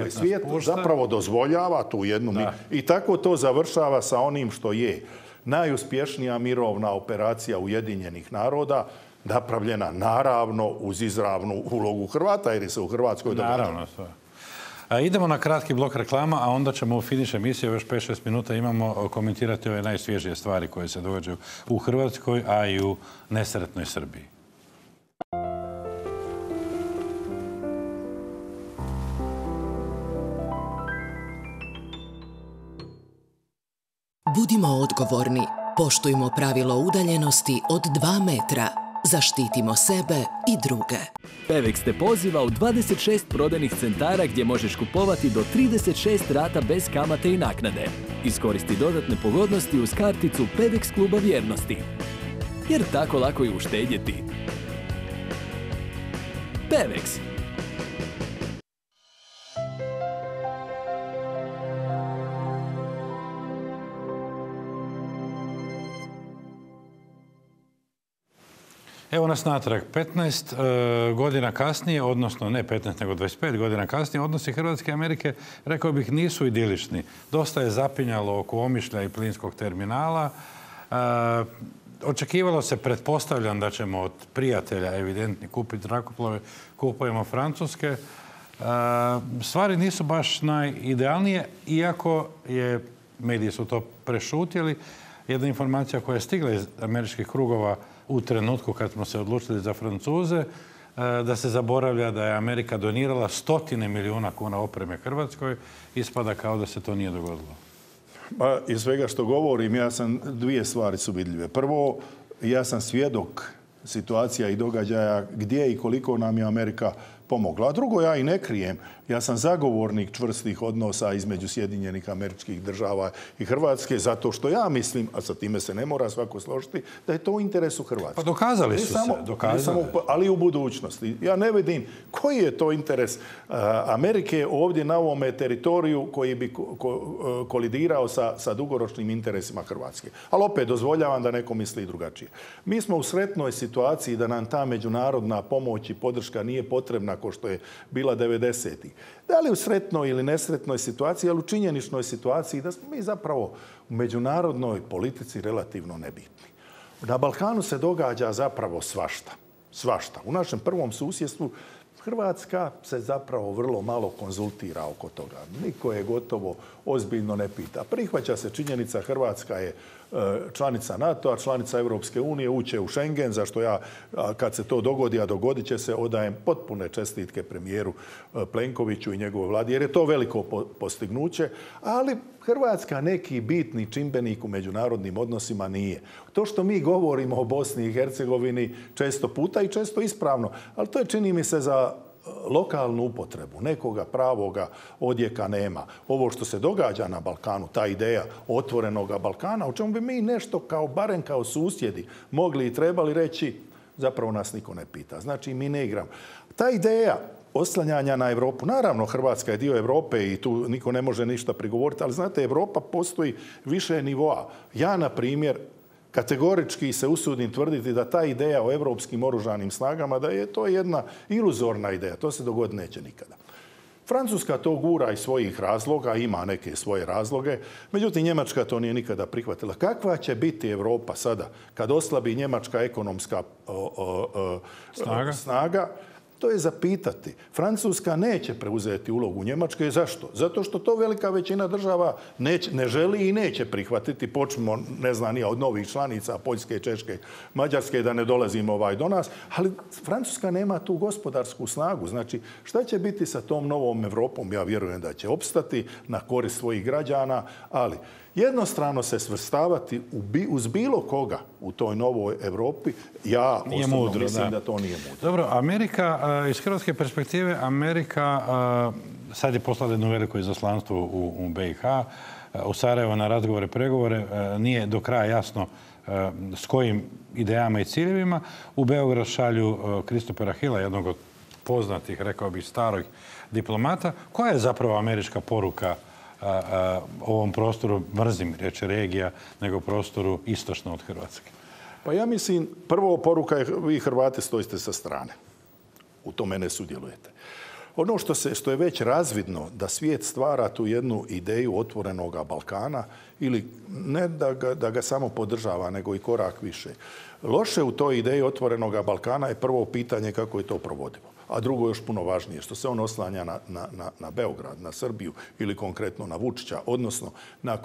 Svijet zapravo dozvoljava tu jednu... I tako to završava sa onim što je najuspješnija mirovna operacija Ujedinjenih naroda, napravljena naravno uz izravnu ulogu Hrvata, jer je se u Hrvatskoj događa. Naravno, sve. Idemo na kratki blok reklama, a onda ćemo u finiš emisije, još 5-6 minuta imamo, komentirati ove najsvježije stvari koje se događaju u Hrvatskoj, a i u nesretnoj Srbiji. Budimo odgovorni, poštujmo pravilo udaljenosti od 2 metra. Zaštitimo sebe i druge. Pevex te poziva u 26 prodajnih centara gdje možeš kupovati do 36 rata bez kamate i naknade. Iskoristi dodatne pogodnosti uz karticu Pevex kluba vjernosti. Jer tako lako je uštedjeti. Pevex. Evo nas natrag. 15 godina kasnije, odnosno ne 15 nego 25 godina kasnije, odnosi Hrvatske i Amerike, rekao bih, nisu idilični. Dosta je zapinjalo oko Omišlja i plinskog terminala. Očekivalo se, pretpostavljam, da ćemo od prijatelja evidentni kupiti zrakoplove, kupujemo francuske. Stvari nisu baš najidealnije, iako mediji su to prešutjeli. Jedna informacija koja je stigla iz američkih krugova u trenutku kad smo se odlučili za Francuze, da se zaboravlja da je Amerika donirala 100 milijuna kuna opreme Hrvatskoj, ispada kao da se to nije dogodilo. Pa, iz svega što govorim, dvije stvari su vidljive. Prvo, ja sam svjedok situacija i događaja gdje i koliko nam je Amerika pomogla. A drugo, ja i ne krijem. Ja sam zagovornik čvrstih odnosa između Sjedinjenih Američkih Država i Hrvatske, zato što ja mislim, a sa time se ne mora svako složiti, da je to u interesu Hrvatske. Pa dokazali su se. Ali i u budućnosti. Ja ne vidim koji je to interes Amerike ovdje na ovome teritoriju koji bi kolidirao sa dugoročnim interesima Hrvatske. Ali opet dozvoljavam da neko misli drugačije. Mi smo u sretnoj situaciji da nam ta međunarodna pomoć i podrška nije potrebna kao što je bila 90-ih. Da li u sretnoj ili nesretnoj situaciji, ali u činjeničnoj situaciji da smo mi zapravo u međunarodnoj politici relativno nebitni. Na Balkanu se događa zapravo svašta. Svašta. U našem prvom susjedstvu Hrvatska se zapravo vrlo malo konzultira oko toga. Niko je gotovo ozbiljno ne pita. Prihvaća se činjenica Hrvatska je članica NATO-a, članica Europske unije, uće u Schengen, zašto ja, kad se to dogodi, a dogodit će se, odajem potpune čestitke premijeru Plenkoviću i njegovoj vladi, jer je to veliko postignuće, ali Hrvatska neki bitni čimbenik u međunarodnim odnosima nije. To što mi govorimo o Bosni i Hercegovini često puta i često ispravno, ali to je, čini mi se, za lokalnu upotrebu. Nekoga pravoga odjeka nema. Ovo što se događa na Balkanu, ta ideja otvorenog Balkana, o čemu bi mi nešto barem kao susjedi mogli i trebali reći, zapravo nas niko ne pita. Znači, mi ne igramo. Ta ideja oslanjanja na Europu, naravno Hrvatska je dio Europe i tu niko ne može ništa prigovoriti, ali znate, Europa postoji više nivoa. Ja, na primjer, kategorički se usudim tvrditi da ta ideja o europskim oružanim snagama, da je to jedna iluzorna ideja. To se dogoditi neće nikada. Francuska to gura iz svojih razloga, ima neke svoje razloge, međutim Njemačka to nije nikada prihvatila. Kakva će biti Europa sada kad oslabi njemačka ekonomska snaga? To je zapitati. Francuska neće preuzeti ulogu Njemačke. Zašto? Zato što to velika većina država ne želi i neće prihvatiti. Počnemo, ne znam, od novih članica, Poljske, Češke, Mađarske, da ne dolazimo do nas. Ali Francuska nema tu gospodarsku snagu. Znači, šta će biti sa tom novom Europom? Ja vjerujem da će opstati na korist svojih građana, ali jednostrano se svrstavati uz bilo koga u toj novoj Europi, ja osobno mislim da to nije mudro. Dobro, Amerika, iz hrvatske perspektive, Amerika sad je poslala jedno veliko izaslanstvo u BiH, u Sarajevo na razgovore, pregovore. Nije do kraja jasno s kojim idejama i ciljevima. U Beograd šalju Christophera Hilla, jednog od poznatih, rekao bih, starih diplomata. Koja je zapravo američka poruka ovom prostoru, mrzim reći regija, nego prostoru istočno od Hrvatske? Pa ja mislim, prvo poruka je vi Hrvati stojite sa strane. U tome ne sudjelujete. Ono što je već razvidno da svijet stvara tu jednu ideju otvorenoga Balkana ili ne da ga samo podržava, nego i korak više. Loše u toj ideji otvorenoga Balkana je prvo pitanje kako je to provodivo. A drugo još puno važnije, što se on oslanja na Beograd, na Srbiju ili konkretno na Vučića, odnosno na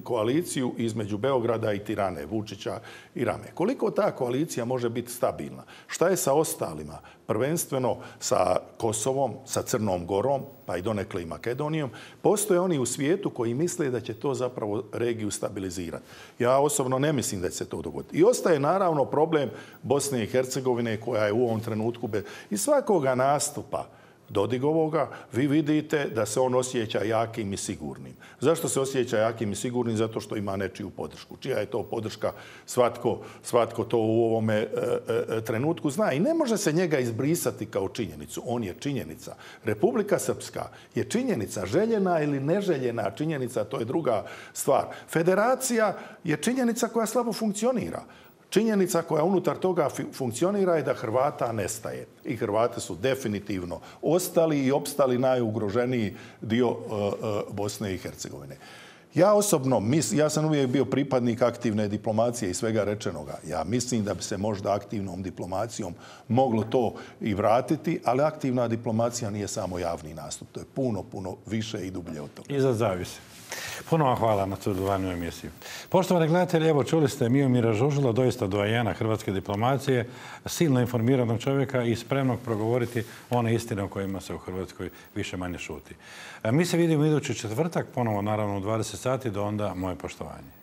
koaliciju između Beograda i Tirane, Vučića i Rame. Koliko ta koalicija može biti stabilna? Šta je sa ostalima? Prvenstveno sa Kosovom, sa Crnom Gorom, pa i donekle i Makedonijom. Postoje oni u svijetu koji misle da će to zapravo regiju stabilizirati. Ja osobno ne mislim da će se to dogoditi. I ostaje naravno problem Bosne i Hercegovine koja je u ovom trenutku i svakoga nastupa Dodigovoga, vi vidite da se on osjeća jakim i sigurnim. Zašto se osjeća jakim i sigurnim? Zato što ima nečiju podršku. Čija je to podrška? Svatko to u ovome trenutku zna. I ne može se njega izbrisati kao činjenicu. On je činjenica. Republika Srpska je činjenica, željena ili neželjena činjenica, to je druga stvar. Federacija je činjenica koja slabo funkcionira. Činjenica koja unutar toga funkcionira je da Hrvata nestaje. I Hrvati su definitivno ostali i opstali najugroženiji dio Bosne i Hercegovine. Ja osobno, ja sam uvijek bio pripadnik aktivne diplomacije i svega rečenoga. Ja mislim da bi se možda aktivnom diplomacijom moglo to i vratiti, ali aktivna diplomacija nije samo javni nastup. To je puno, puno više i dublje od toga. I za zavise. Puno vam hvala na sudjelovanju u emisiji. Poštovani gledatelji, evo čuli ste Miomira Žužula, doista doajena hrvatske diplomacije, silno informiranog čovjeka i spremnog progovoriti one istine o kojima se u Hrvatskoj više manje šuti. Mi se vidimo idući četvrtak, ponovo naravno u 20 sati, do onda moje poštovanje.